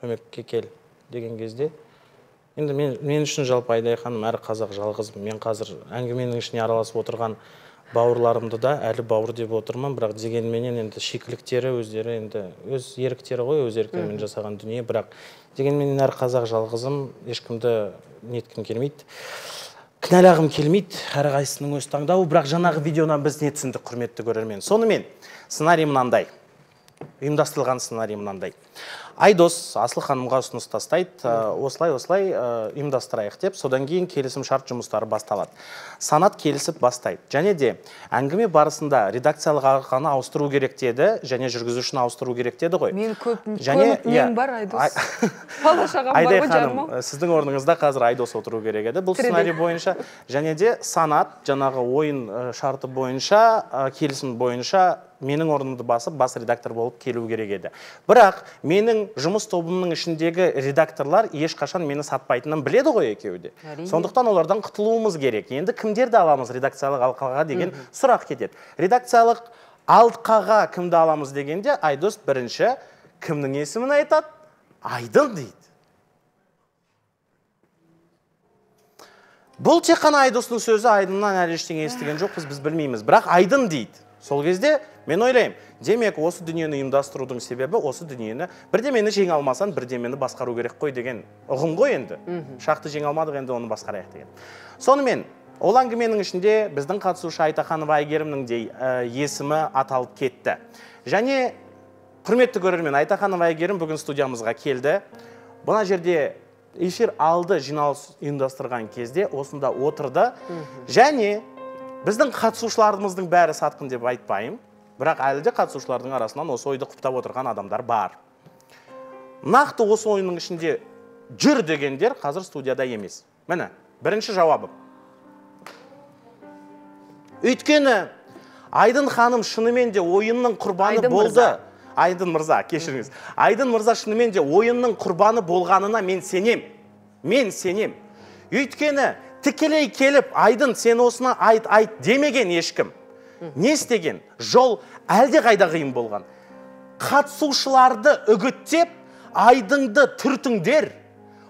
көмекке кел деген кезде. Енді мен үшін жалпы Айдай ханым әрі қазақ жалғызым. Мен қазір әңгіменің ішіне араласып отырған бауырларымды да әлі бауыр деп отырмын, бірақ дегенменен енді шикіліктері өздері енді өз еріктері ғой, өз еріктерімен жасаған дүние, бірақ дегенменен әрі қазақ жалғызым, ешкімді неткім келмейді. Кінәлағым келмейді, әрі қайсының өз таңдауы, бірақ жаңағы видеодан біз не түсіндік, құрметті көрермен. Сонымен сценарий мынандай. Ұйымдастырылған сценарий мынандай. Айдос Асыл ханымға ұсыныс тастайды, осылай ұйымдастырайық деп, содан кейін келісім шарт жұмыстары басталады. Санат келісіп бастайды. Және де әңгіме барысында редакциялық арқаны ауыстыру керек деді, және жүргізушіні ауыстыру керек деді ғой. Мен көп нем бар, Айдос. Бала шағам бар ғой жаным. Сіздің орныңызда қазір Айдос отыру керек еді. Бұл сценарий бойынша, және де санат жаңағы ойын шарты бойынша, келісім бойынша менің орнымды басып, бас редактор болып келу керек еді. Бірақ менің жұмыс тобымның ішіндегі редакторлар ешқашан мені сатпайтынын біледі ғой екеуі де. Сондықтан олардан құтылуымыз керек. Енді кімдерді аламыз редакциялық алқаға деген сұрақ кетеді. Редакциялық алқаға кімді аламыз дегенде Айдос бірінші кімнің есімін айтады? Айдын дейді. Бұл тек қана Айдостың сөзі, Айдыннан әлі ештеңе естіген жоқпыз, біз білмейміз. Бірақ Айдын дейді. Сол кезде мен ойлаймын, демек осы дүниені ұйымдастырудың себебі осы дүниені бірдемені жеңе алмасан, бірдемені басқару керек қой деген ұғым ғой енді. Шақты жеңе алмадық, енді оны басқарайық деген. Сонымен, ол әңгіменің ішінде біздің қатысушы Айтаханова Айгерімнің де есімі аталып кетті. Және құрметті көрермен, Айтаханова Айгерім бүгін студиямызға келді. Бұна жерде эфир алды жиналыс ұйымдастырған кезде осында отырды. Және біздің қатысушыларымыздың бәрі сатқын деп айтпайым, бірақ әлі де қатысушылардың арасынан осы ойды құптап отырған адамдар бар. Нақты осы ойының ішінде жүр дегендер қазір студияда емес. Міне, бірінші жауабым. Өйткені Айдын ханым шынымен де ойынның құрбаны болды. Айдын мырза, кешіріңіз. Айдын мырза шынымен де ойынның құрбаны болғанына мен сенем. Өйткені тікелей келіп, Айдын сен осыны айт демеген ешкім. Не істеген? Жол әлде қайда қиын болған. Қатысушыларды үгіттеп, Айдынды түртіңдер.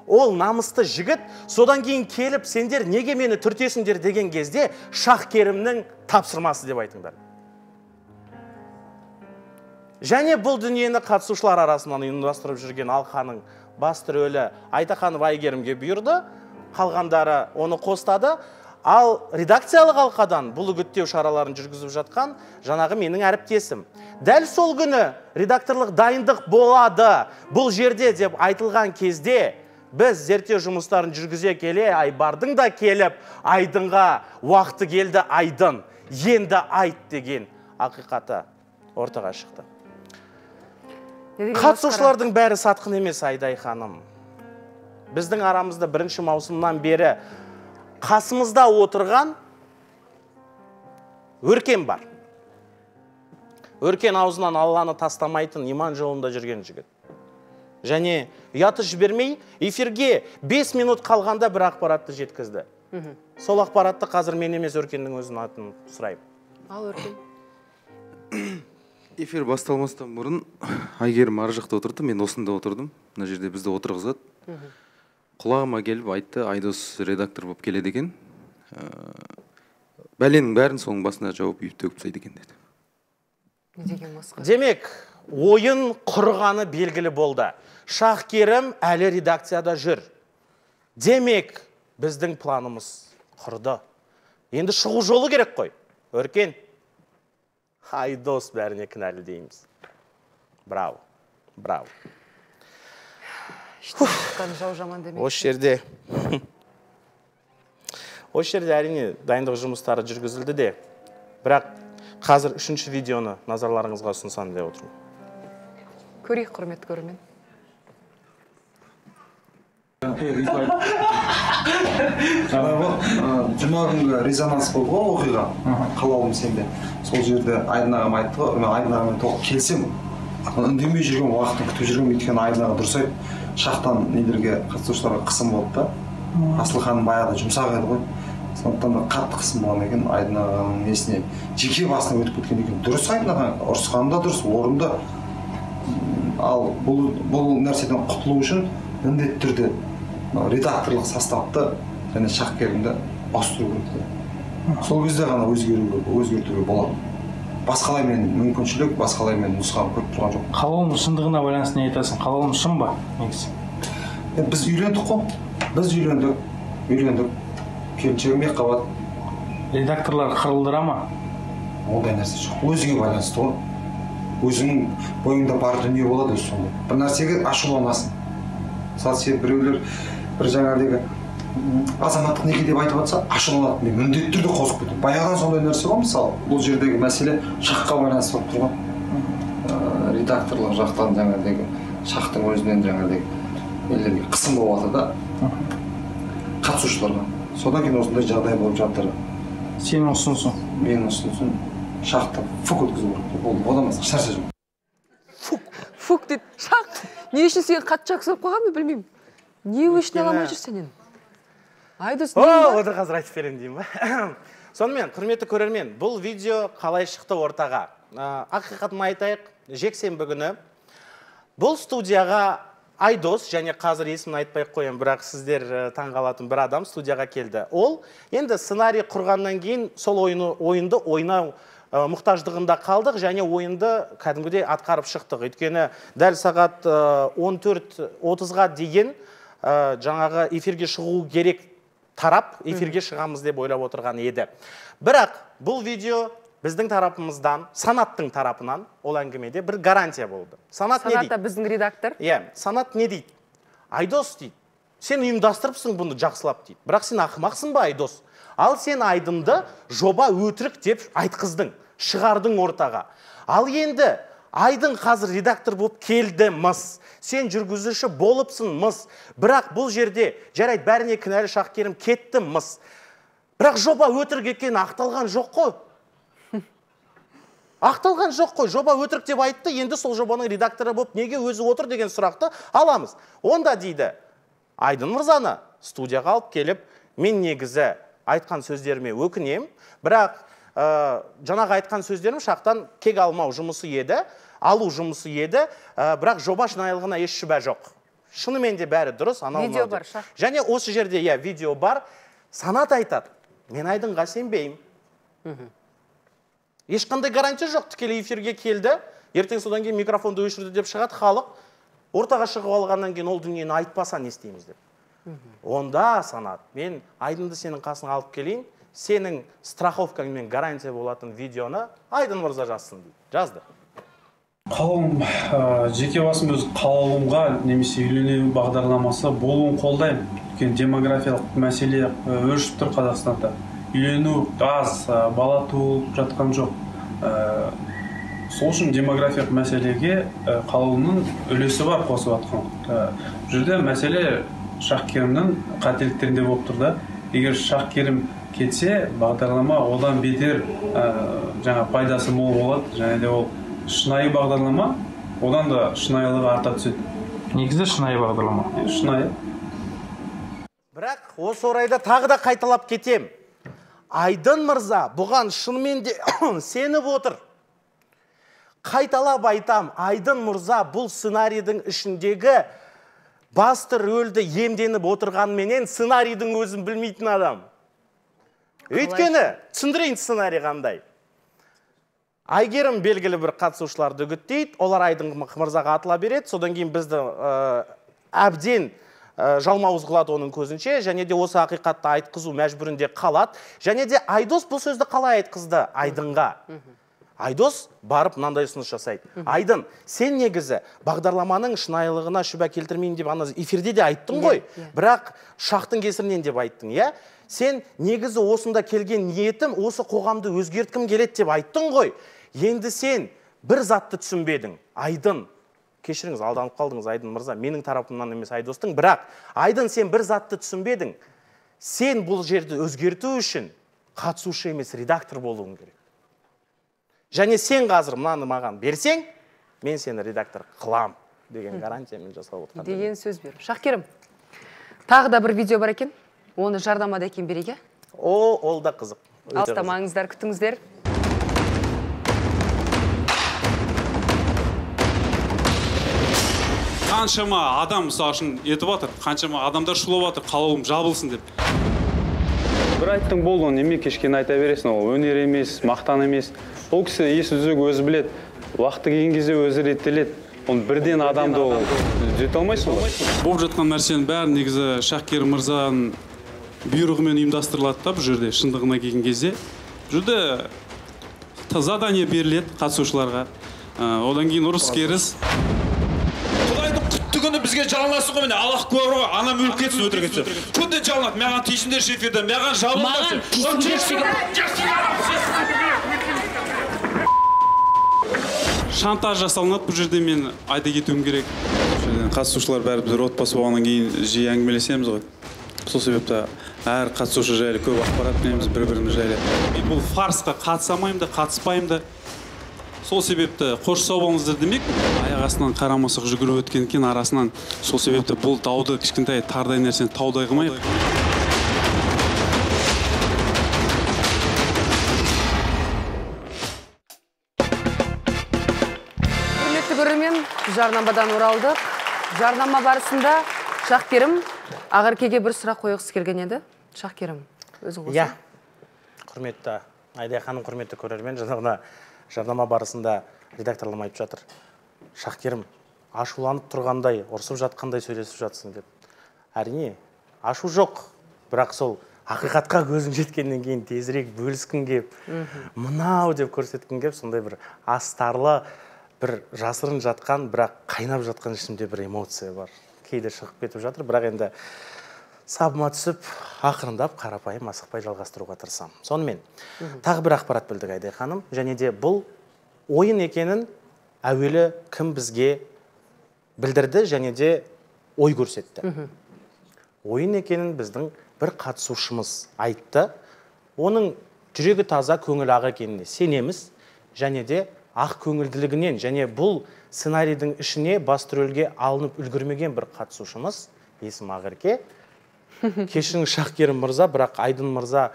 Ол намысты жігіт, содан кейін келіп, сендер неге мені түртесіңдер деген кезде Шахкерімнің тапсырмасы деп айтыңдар. Және бұл дүниені қатысушылар арасынан ұйымдастырып жүрген алқаның басты рөлі Айтаханова Айгерімге бұйырды. Қалғандары оны қостады, ал редакциялық алқадан бұл үгіттеу шараларын жүргізіп жатқан жаңағы менің әріптесім. Дәл сол күні редакторлық дайындық болады бұл жерде деп айтылған кезде біз зерттеу жұмыстарын жүргізе келе Айбардың да келіп, Айдынға уақыты келді Айдын, енді айт деген ақиқаты ортаға шықты. Қатысушылардың бәрі сатқын емес, Айдай ханым. Біздің арамызда бірінші маусымнан бері қасымызда отырған Өркен бар. Өркен аузынан Алланы тастамайтын иман жолында жүрген жігіт. Және ұяты жібермей, эфирге 5 минут қалғанда бір ақпаратты жеткізді. Сол ақпаратты қазір мен емес Өркеннің өзінің атын сұрайым. Ал Өркен. Эфир басталмастан бұрын Айгерім ар жақта отырды, мен осында отырдым. Мына жерде бізді отырғызады. Құлағыма келіп айтты, Айдос редактор болып келеді екен. бәленің бәрін соның басына жауып үйіп төгіп тастайды екен деді. Не деген масқара. Демек, ойын құрғаны белгілі болды. Шахкерім әлі редакцияда жүр. Демек, біздің планымыз құрды. Енді шығу жолы керек қой. Өркен, Айдос бәріне кінәлі дейміз. Браво, браво. Жау жаман демек. Осы жерде әрине дайындық жұмыстары жүргізілді де, бірақ қазір 3-ші видеоны назарларыңызға ұсынсам деп отырмын. Көрейік, құрметті көрермен. Жұма күнгі резонанс болды ғой оқиға, қалауым сенде. Сол жерде Айдын ағам айтты ғой, мен Айдын ағамен толық келсем, үндемей жүрген уақытын күтіп жүрген, өйткені Айдын аға дұрыс айтты, шақтан нелерге қатысушыларға қысым болды да. Асылханым баяғыда жұмсақ еді ғой. Сондықтан да қатты қысым болған екен, Айдын ағаның несіне жеке басына өтіп кеткен екен. Дұрыс Айдын аға, ұрысқаны да дұрыс, орынды. Ал бұл нәрседен құтылу үшін міндетті түрде редакторлық составты және шахкерімді ауыстыру керек. Сол кезде ғана өзгертуге болады. Басқалай мен мүмкіншілік, басқалай мен нұсқам көп тұрған жоқ. Қалауым шындығына байланысты не айтасың? Қалауым шын ба? Біз үйлендік қой. Біз үйлендік. Келіншегім екіқабат. Редакторлар қырылдыра ма? Ондай нәрсе жоқ. Өзіңе байланысты ғой. Өзіңнің бойыңда бар дүние болады өзі сондай. Бір нәрсеге ашуланасың. Мысалы сен біреулер бір жаңағыдегі азаматтық неке деп айтып жатса ашуланады. Мен міндетті түрде қосып кетемін. Баяғыдан сондай нәрсе ғой, мысалы бұл жердегі мәселе шаққа байланысты болып тұрған. Редакторлық жақтан жаңағыдегі шақтың өзінен жаңағыдегі нелерге қысым болып жатыр да қатысушыларға. Содан кейін осындай жағдай болып жатыр. Сенің ұсынысың? Менің ұсынысым шақты фук өткізу керек. Ол одан басқа ешнәрсе жоқ. Фук дейді. Шақ. Не үшін сен қатты жақсылап қойған мен білмеймін. Не үшін аламай жүрсен енді? Айдос, не ба? Отыр қазір айтып берем деймін ба? Сонымен, құрметті көрермен, бұл видео қалай шықты ортаға? Ақиқатын айтайық, жексенбі күні бұл студияға Айдос, және қазір есімін айтпай қоям, бірақ сіздер таңғалатын бір адам студияға келді. Ол енді сценарий құрғаннан кейін сол ойынды ойнау мұқтаждығында қалдық, және ойынды кәдімгідей атқарып шықтық. Өйткені дәл сағат 14:30-ға дейін жаңағы эфирге шығу керек тарап, эфирге шығамыз деп ойлап отырған еді. Бірақ бұл видео біздің тарапымыздан, Санаттың тарапынан ол әңгімеде бір гарантия болды. Санат не дейді? Санат біздің редактор. Санат не дейді? Айдос дейді. Сен ұйымдастырыпсың бұны жақсылап дейді. Бірақ сен ақымақсың ба, Айдос? Ал сен Айдынды жоба өтірік деп айтқыздың, шығардың ортаға. Ал енді Айдын қазір редактор болып келді мыс. Сен жүргізуші болыпсың мыс. Бірақ бұл жерде жарайды бәріне кінәлі Шахкерім кетті мыс. Бірақ жоба өтірік екен ақталған жоқ қой. Ақталған жоқ қой, жоба өтірік деп айтты, енді сол жобаның редакторы болып неге өзі отыр деген сұрақты аламыз. Онда дейді, Айдын мырзаны студияға алып келіп, мен негізі айтқан сөздеріме өкінем, бірақ жаңағы айтқан сөздерім шақтан кек алмау жұмысы еді, алу жұмысы еді, бірақ жоба шынайылығына еш шүбә жоқ. Шынымен де бәрі дұрыс, видео бар, шақ. Және осы жерде видео бар, Санат айтады, мен Айдынға сенбеймін. Ешқандай гарантия жоқ, тікелей эфирге келді, ертең содан кейін микрофонды өшірді деп шығады халық, ортаға шығып алғаннан кейін ол дүниені айтпаса не істейміз деп. Онда Санат, мен Айдынды сенің қасыңа алып келейін, сенің страховкаңмен гарантия болатын видеоны Айдын мырза жазсын дейді. Жазды. Қалауым, жеке басым өз қалауымға немесе үйлену бағдарламасы болуын қолдаймын. Өйткені демографиялық мәселе өршіп тұр Қазақстанда. Үйлену аз, бала туылып жатқан жоқ. Сол үшін демографиялық мәселеге қалауымның үлесі бар қосып жатқан. Бұл жерде мәселе Шахкерімнің қателіктерінде болып тұр да. Егер Шахкерім кетсе, бағдарлама одан бетер жаңа пайдасы мол болады. Және де ол шынайы бағдарлама, одан да шынайылығы арта түседі. Негізі шынайы бағдарлама. Шынайы. Бірақ осы орайда тағы да қайталап кетем. Айдын мырза бұған шынымен де сеніп отыр. Қайталап айтам, Айдын мырза бұл сценарийдің ішіндегі басты рөлді емденіп отырғанменен сценарийдің өзін білмейтін адам. Өйткені түсіндірейін сценарий қандай. Айгерім белгілі бір қатысушыларды үгіттейді, олар Айдын мырзаға атыла береді, содан кейін бізді әбден жалмауыз қылады оның көзінше, және де осы ақиқатты айтқызу мәжбүрінде қалады, және де Айдос бұл сөзді қалай айтқызды Айдынға? Айдос барып мынандай ұсыныс жасайды. Айдын, сен негізі бағдарламаның шынайылығына шүбә келтірмейін деп ана эфирде де айттың ғой, бірақ шақтың кесірінен деп айттың, иә? Сен негізі осында келген ниетім осы қоғамды өзгерткім келеді деп айттың ғой. Енді сен бір затты түсінбедің. Айдын, кешіріңіз, алданып қалдыңыз Айдын мырза, менің тарапымнан емес Айдостың, бірақ Айдын, сен бір затты түсінбедің. Сен бұл жерді өзгерту үшін қатысушы емес редактор болуың керек. Және сен қазір мынаны маған берсең, мен сені редактор қылам деген гарантиямен жасап отырған. Деген сөз бер. Шақкерім, тағы да бір видео бар екен. Оны жардамада екен береге? Ол да қызық. Алыстамаңыздар, күтіңіздер. Қаншама адам мысалы үшін етіп атыр, қаншама адамдар шулап атыр, қалауым жабылсын деп. Бір айттың болды, оны неме кешкен айта бересің, ол өнер емес, мақтан емес. Ол кісі есі түзек өзі білет, уақыты келген кезде өзі реттеледі. Оны бірден адамды түзете алмайсың ғой. Болып жатқан нәрсенің бәрі негізі Шақкер мырзаның бұйрығымен ұйымдастырылады да, бұл жерде шындығына келген кезде. Бұл жерде задание беріледі қатысушыларға. Одан кейін ұрыс керіс. Құдайдың құтты күні бізге жалынасың ғой, міне Аллах куәр ғой, анам өліп кетсін өтірік етсе. Күнде жалынады, маған тиісіңдер эфирден, маған шантаж жасалынады бұл жерде, мен айта кетуім керек. Қатысушылар бәрі біз отбасы болғаннан кейін жиі әңгімелесеміз ғой. Сол себепті әр қатысушы жайлы көп ақпарат береміз бір-біріміз жайлы. Мен бұл фарсқа қатысамаймын да, қатыспаймын да. Сол себепті қош сау болыңыздар демек, аяқ астынан қарамасық жүгіріп өткен екен арасынан. Сол себепті бұл дауды кішкентай тардай нәрсені таудай қылмайық. Құрметті көрермен, жарнамадан оралдық. Жарнама барысында Шақкерім Ақеркеге бір сұрақ қойғысы келген еді. Шақкерім, өзің қосын. Иә, құрметті Айдай ханым, құрметті көрермен, жаңағына жарнама барысында редакторлар айтып жатыр. Шақкерім, ашуланып тұрғандай, ұрсып жатқандай сөйлесіп жатсың деп. Әрине, ашу жоқ, бірақ сол ақиқатқа көзің жеткеннен кейін тезірек бөліскің кеп, мынау деп көрсеткің кеп, сондай бір астарлы, бір жасырын жатқан, бірақ қайнап жатқан ішімде бір эмоция бар. Кейде шығып кетіп жатыр, бірақ енді сабыма түсіп, ақырындап, қарапайым, асықпай жалғастыруға тырысам. Сонымен, тағы бір ақпарат білдік Айдай ханым, және де бұл ойын екенін әуелі кім бізге білдірді, және де ой көрсетті. Ойын екенін біздің бір қатысушымыз айтты. Оның жүрегі таза, көңіл ақ екеніне сенеміз, және де ақ көңілділігінен, және бұл сценарийдің ішіне басты рөлге алынып үлгермеген бір қатысушымыз, есім Ақерке. Кешіріңіз Шақкерім мырза, бірақ Айдын мырза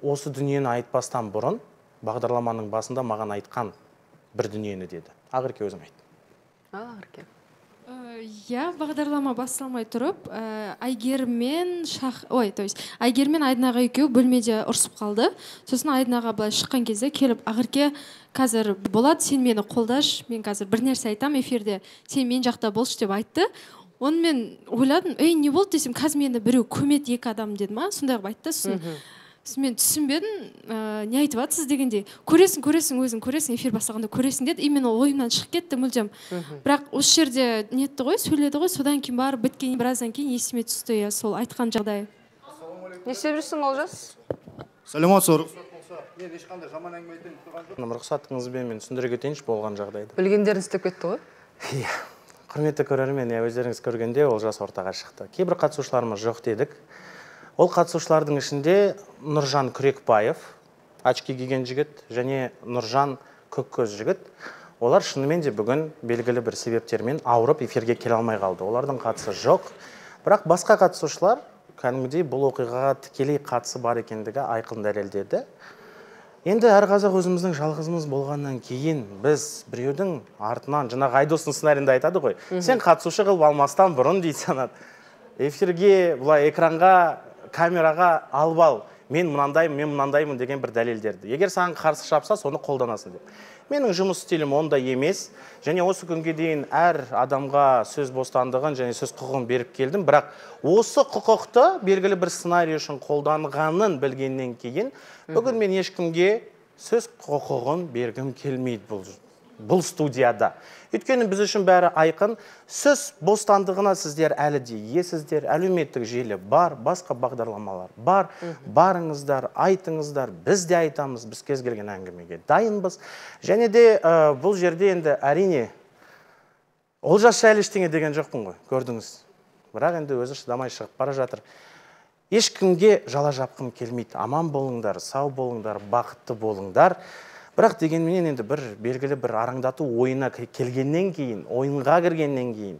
осы дүниені айтпастан бұрын бағдарламаның басында маған айтқан бір дүниені деді. Ақерке өзің айт. Ақерке. Иә, бағдарлама басталмай тұрып, Айгерім мен Айдын аға екеуі бөлмеде ұрсып қалды. Сосын Айдын аға былай шыққан кезде келіп, Ақерке, қазір болады, сен мені қолдаш, мен қазір бір нәрсе айтам эфирде, сен мен жақта болшы деп айтты. Оны мен ойладым, не болды десем, қазір мені біреу көмет екі адам деді ма, сондай қылып айтты. Сосын мен түсінбедім, не айтып жатсыз дегенде, көресің, өзің көресің, эфир бастағанда көресің деді. Именно ойымнан шығып кетті мүлдем. Бірақ осы жерде нетті ғой, сөйледі ғой, содан кейін барып біткен біраздан кейін есіме түсті, сол айтқан жағдай. Не істеп жүрсің, Олжас? Сәлеметсіздер. Рұқсатыңызбен мен түсіндіре кетейінші болған жағдайды. Білгендерін істеп кетті ғой? Иә. Құрметті көрермен, өздеріңіз көргенде Олжас ортаға шықты. Кейбір қатысушыларымыз жоқ дедік. Ол қатысушылардың ішінде Нұржан Күрекбаев, очки киген жігіт, және Нұржан Көккөз жігіт. Олар шынымен де бүгін белгілі бір себептермен ауырып эфирге келе алмай қалды. Олардың қатысы жоқ. Бірақ басқа қатысушылар кәдімгідей бұл оқиғаға тікелей қатысы бар екендігі айқын дәлелдеді. Енді әр қазақ өзіміздің жалғызымыз болғаннан кейін біз біреудің артынан, жаңағы Айдостың сценарийінде айтады ғой, сен қатысушы қылып алмастан бұрын дейді санат. Эфирге, бұлай экранға, камераға алып ал, мен мынандаймын деген бір дәлелдерді. Егер саған қарсы шапса, соны қолданасың деп. Менің жұмыс стилім ондай емес, және осы күнге дейін әр адамға сөз бостандығын және сөз құқығын беріп келдім, бірақ осы құқықты белгілі бір сценарий үшін қолданғанын білгеннен кейін, бүгін мен ешкімге сөз құқығын бергім келмейді бұл студияда. Өйткені біз үшін бәрі айқын, сөз бостандығына сіздер әлі де иесіздер, әлеуметтік желі бар, басқа бағдарламалар бар, барыңыздар, айтыңыздар, біз де айтамыз, біз кез келген әңгімеге дайынбыз. Және де бұл жерде енді әрине Олжас жайлы ештеңе деген жоқпын ғой, көрдіңіз. Бірақ енді өзі шыдамай шығып бара жатыр. Ешкімге жала жапқым келмейді. Аман болыңдар, сау болыңдар, бақытты болыңдар. Бірақ дегенменен енді бір белгілі бір араңдату ойына келгеннен кейін, ойынға кіргеннен кейін,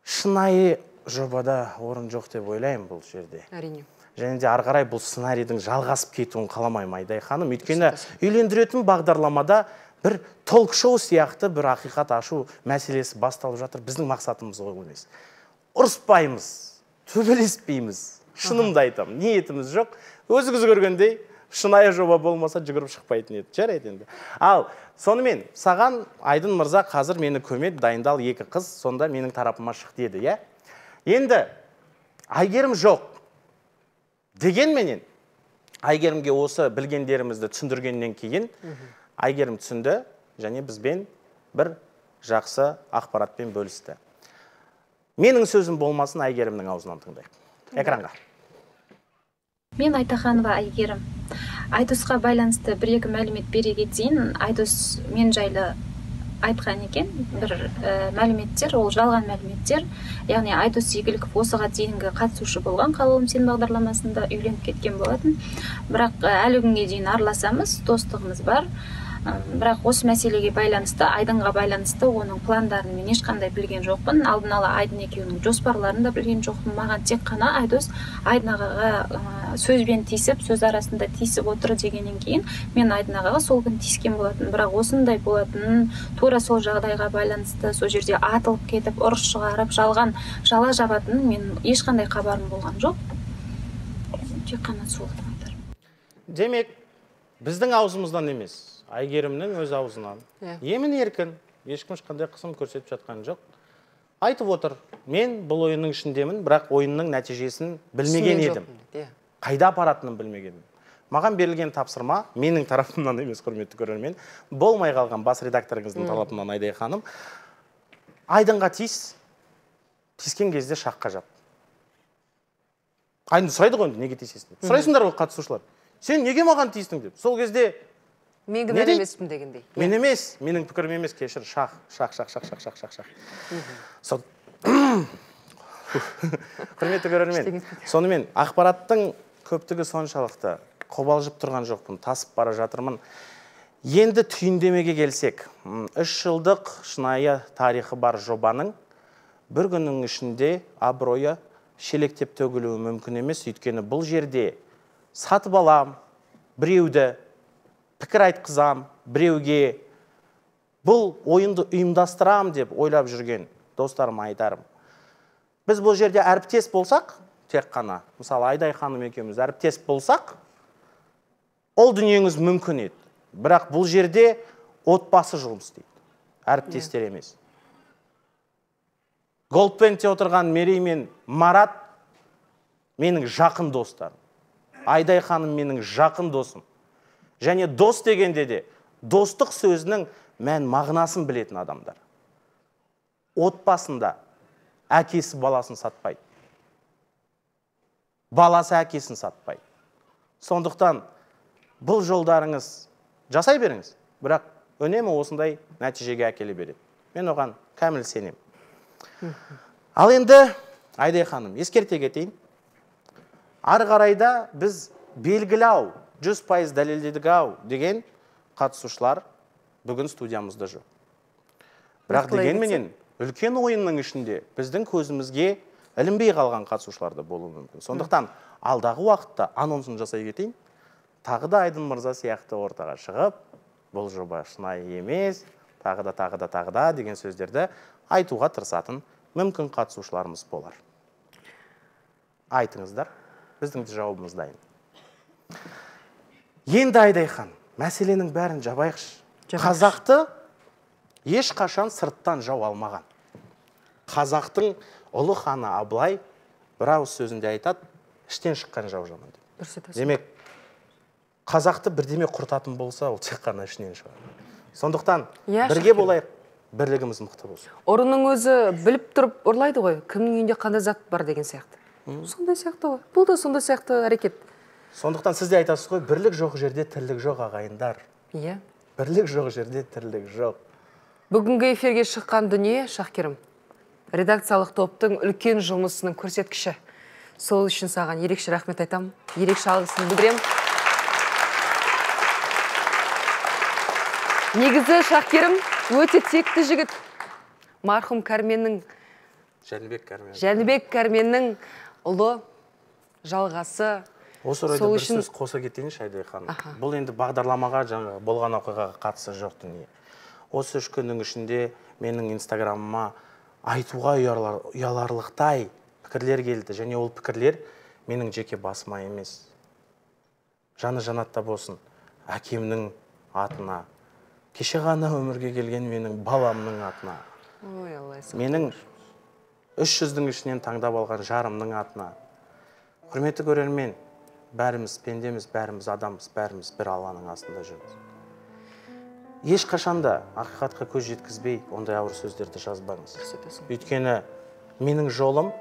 шынайы жобада орын жоқ деп ойлаймын бұл жерде. Әрине. Және де ары қарай бұл сценарийдің жалғасып кетуін қаламаймын Айдай ханым. Өйткені үйлендіретін бағдарламада бір толк-шоу сияқты бір ақиқат ашу мәселесі басталып жатыр. Біздің мақсатымыз ол емес. Ұрыспаймыз, төбелеспейміз. Шынымды айтамын, ниетіміз жоқ. Өзіңіз көргендей, шынайы жоба болмаса жүгіріп шықпайтын еді. Жарайды енді. Ал сонымен саған Айдын мырза қазір мені көмеді, дайындал 2 қыз, сонда менің тарапыма шық деді, иә? Енді Айгерім жоқ. Дегенменен Айгерімге осы білгендерімізді түсіндіргеннен кейін Айгерім түсінді және бізбен бір жақсы ақпаратпен бөлісті. Менің сөзім болмасын, Айгерімнің аузынан тыңдайық. Экранға. Мен Айтаханова Айгерім. Айдосқа байланысты 1-2 мәлімет бере кетейін. Айдос мен жайлы айтқан екен, бір мәліметтер, ол жалған мәліметтер. Яғни Айдос Игіліков осыға дейінгі қатысушы болған Қалауым сен бағдарламасында үйленіп кеткен болатын. Бірақ әлі күнге дейін араласамыз, достығымыз бар. Бірақ осы мәселеге байланысты, Айдынға байланысты оның пландарын мен ешқандай білген жоқпын. Алдын ала Айдын екеуінің жоспарларын да білген жоқпын. Маған тек қана Айдос Айдын ағаға сөзбен тиісіп, сөз арасында тиісіп отыр дегеннен кейін мен Айдын ағаға сол күн тиіскен болатын. Бірақ осындай болатын, тура сол жағдайға байланысты сол жерде атылып кетіп, ұрыс шығарып, жалған жала жабатын мен ешқандай хабарым болған жоқ. Тек қана сол айтар. Демек, біздің аузымыздан емес, Айгерімнің өз аузынан. Емін еркін, ешкім ешқандай қысым көрсетіп жатқан жоқ. Айтып отыр, мен бұл ойынның ішіндемін, бірақ ойынның нәтижесін білмеген едім. Қайда апаратынын білмеген. Маған берілген тапсырма, менің тарапымнан емес, құрметті көрермен, болмай қалған бас редакторыңыздың талабынан Айдай ханым, Айдынға тиіскен кезде шаққа жап. Айдын сұрайды ғой, неге тиісесің деп. Сұрайсыңдар ғой қатысушылар. Сен неге маған тиістің деп. Сол кезде мен кінәлі емеспін дегендей. Мен емес, менің пікірім емес, кешір, шақ. Құрметті көрермен, сонымен ақпараттың көптігі соншалықты қобалжып тұрған жоқпын, тасып бара жатырмын. Енді түйіндемеге келсек, 3 жылдық шынайы тарихы бар жобаның бір күннің ішінде абыройы шелектеп төгілуі мүмкін емес, өйткені бұл жерде сатып алам, біреуді пікір айтқызам, біреуге бұл ойынды ұйымдастырам деп ойлап жүрген достарым айтарым. Біз бұл жерде әріптес болсақ, тек қана, мысалы Айдай ханым екеуміз әріптес болсақ, ол дүниеңіз мүмкін еді. Бірақ бұл жерде отбасы жұмыс істейді, әріптестер емес. Голдбендте отырған Мерей мен Марат менің жақын достарым. Айдай ханым менің жақын досым. Және дос дегенде де достық сөзінің мән мағынасын білетін адамдар. Отбасында әкесі баласын сатпайды. Баласы әкесін сатпайды. Сондықтан бұл жолдарыңыз жасай беріңіз, бірақ үнемі осындай нәтижеге әкеле береді. Мен оған кәміл сенем. Ал енді Айдай ханым, ескерте кетейін. Ары қарайда біз белгілі 100% дәлелдедік деген қатысушылар бүгін студиямызда жоқ. Бірақ дегенменен үлкен ойынның ішінде біздің көзімізге ілінбей қалған қатысушылар да болуы мүмкін. Сондықтан алдағы уақытта анонсын жасай кетейін. Тағы да Айдын мырза сияқты ортаға шығып, бұл жоба шынайы емес, тағы да деген сөздерді айтуға тырысатын мүмкін қатысушыларымыз болар. Айтыңыздар, біздің жауабымыз дайын. Енді Айдайхан, мәселенің бәрін жабайықшы. Қазақты ешқашан сырттан жау алмаған. Қазақтың ұлы ханы Абылай бір ауыз сөзінде айтады, іштен шыққан жау жаман деп. Демек, қазақты бірдеме құртатын болса, ол тек қана ішінен шығады. Сондықтан бірге болайық, бірлігіміз мықты болсын. Ұрының өзі біліп тұрып ұрлайды ғой, кімнің үйінде қандай зат бар деген сияқты. Сондай сияқты ғой. Бұл да сондай сияқты әрекет. Сондықтан сіз де айтасыз ғой, бірлік жоқ жерде тірлік жоқ ағайындар. Иә. Бірлік жоқ жерде тірлік жоқ. Бүгінгі эфирге шыққан дүние, Шахкерім, редакциялық топтың үлкен жұмысының көрсеткіші. Сол үшін саған ерекше рахмет айтам, ерекше алғысымды білдірем. Негізі Шахкерім өте текті жігіт. Марқұм Кәрменнің, Жәнібек Кәрменнің ұлы, жалғасы. Осы орайда бір сөз қоса кетейінші, Айдайхан. Бұл енді бағдарламаға жаңа болған оқиғаға қатысы жоқ дүние. Осы 3 күннің ішінде менің инстаграмыма айтуға ұяларлықтай пікірлер келді, және ол пікірлер менің жеке басыма емес. Жаны жанатта болсын, әкемнің атына, кеше ғана өмірге келген менің баламның атына, менің 300-дің ішінен таңдап алған жарымның атына. Құрметті көрермен, бәріміз пендеміз, бәріміз адамыз, бәріміз бір Алланың астында жүрміз. Ешқашанда ақиқатқа көз жеткізбей, ондай ауыр сөздерді жазбаңыз. Өйткені менің жолым,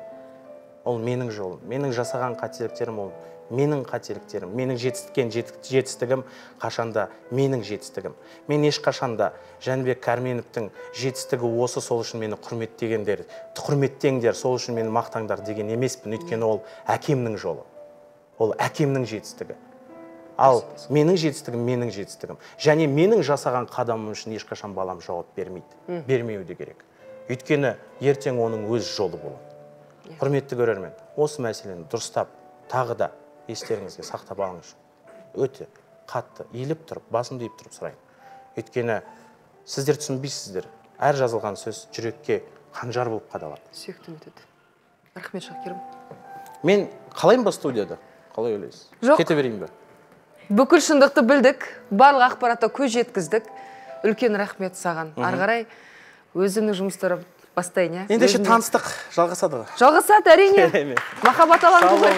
ол менің жолым. Менің жасаған қателіктерім, ол менің қателіктерім. Менің жетістігім қашанда менің жетістігім. Мен ешқашанда Жәнібек Кәрменовтің жетістігі осы, сол үшін мені құрметтеңдер, сол үшін мені мақтаңдар деген емеспін. Өйткені ол әкемнің жолы. Ол әкемнің жетістігі. Ал менің жетістігім, менің жетістігім. Және менің жасаған қадамым үшін ешқашан балам жауап бермейді. Бермеуі де керек. Өйткені ертең оның өз жолы болады. Құрметті көрермен, осы мәселені дұрыстап, тағы да естеріңізге сақтап алыңыз. Өте қатты иіліп тұрып, басымды иіп тұрып сұрайын. Өйткені сіздер түсінбейсіздер. Әр жазылған сөз жүрекке қанжар болып қадалады. Сүйіктім өтеді. Рахмет, Шахкерім. Мен қалайын ба студияда? Қалай ойлайсыз? Жоқ. Кете берейін бе? Бүкіл шындықты білдік, барлық ақпаратқа көз жеткіздік. Үлкен рахмет саған. Ары қарай өзімнің жұмыстары бастайын, иә? Ендеше таныстық жалғасады ғой. Жалғасады, әрине. Махаббат алаңы ғой.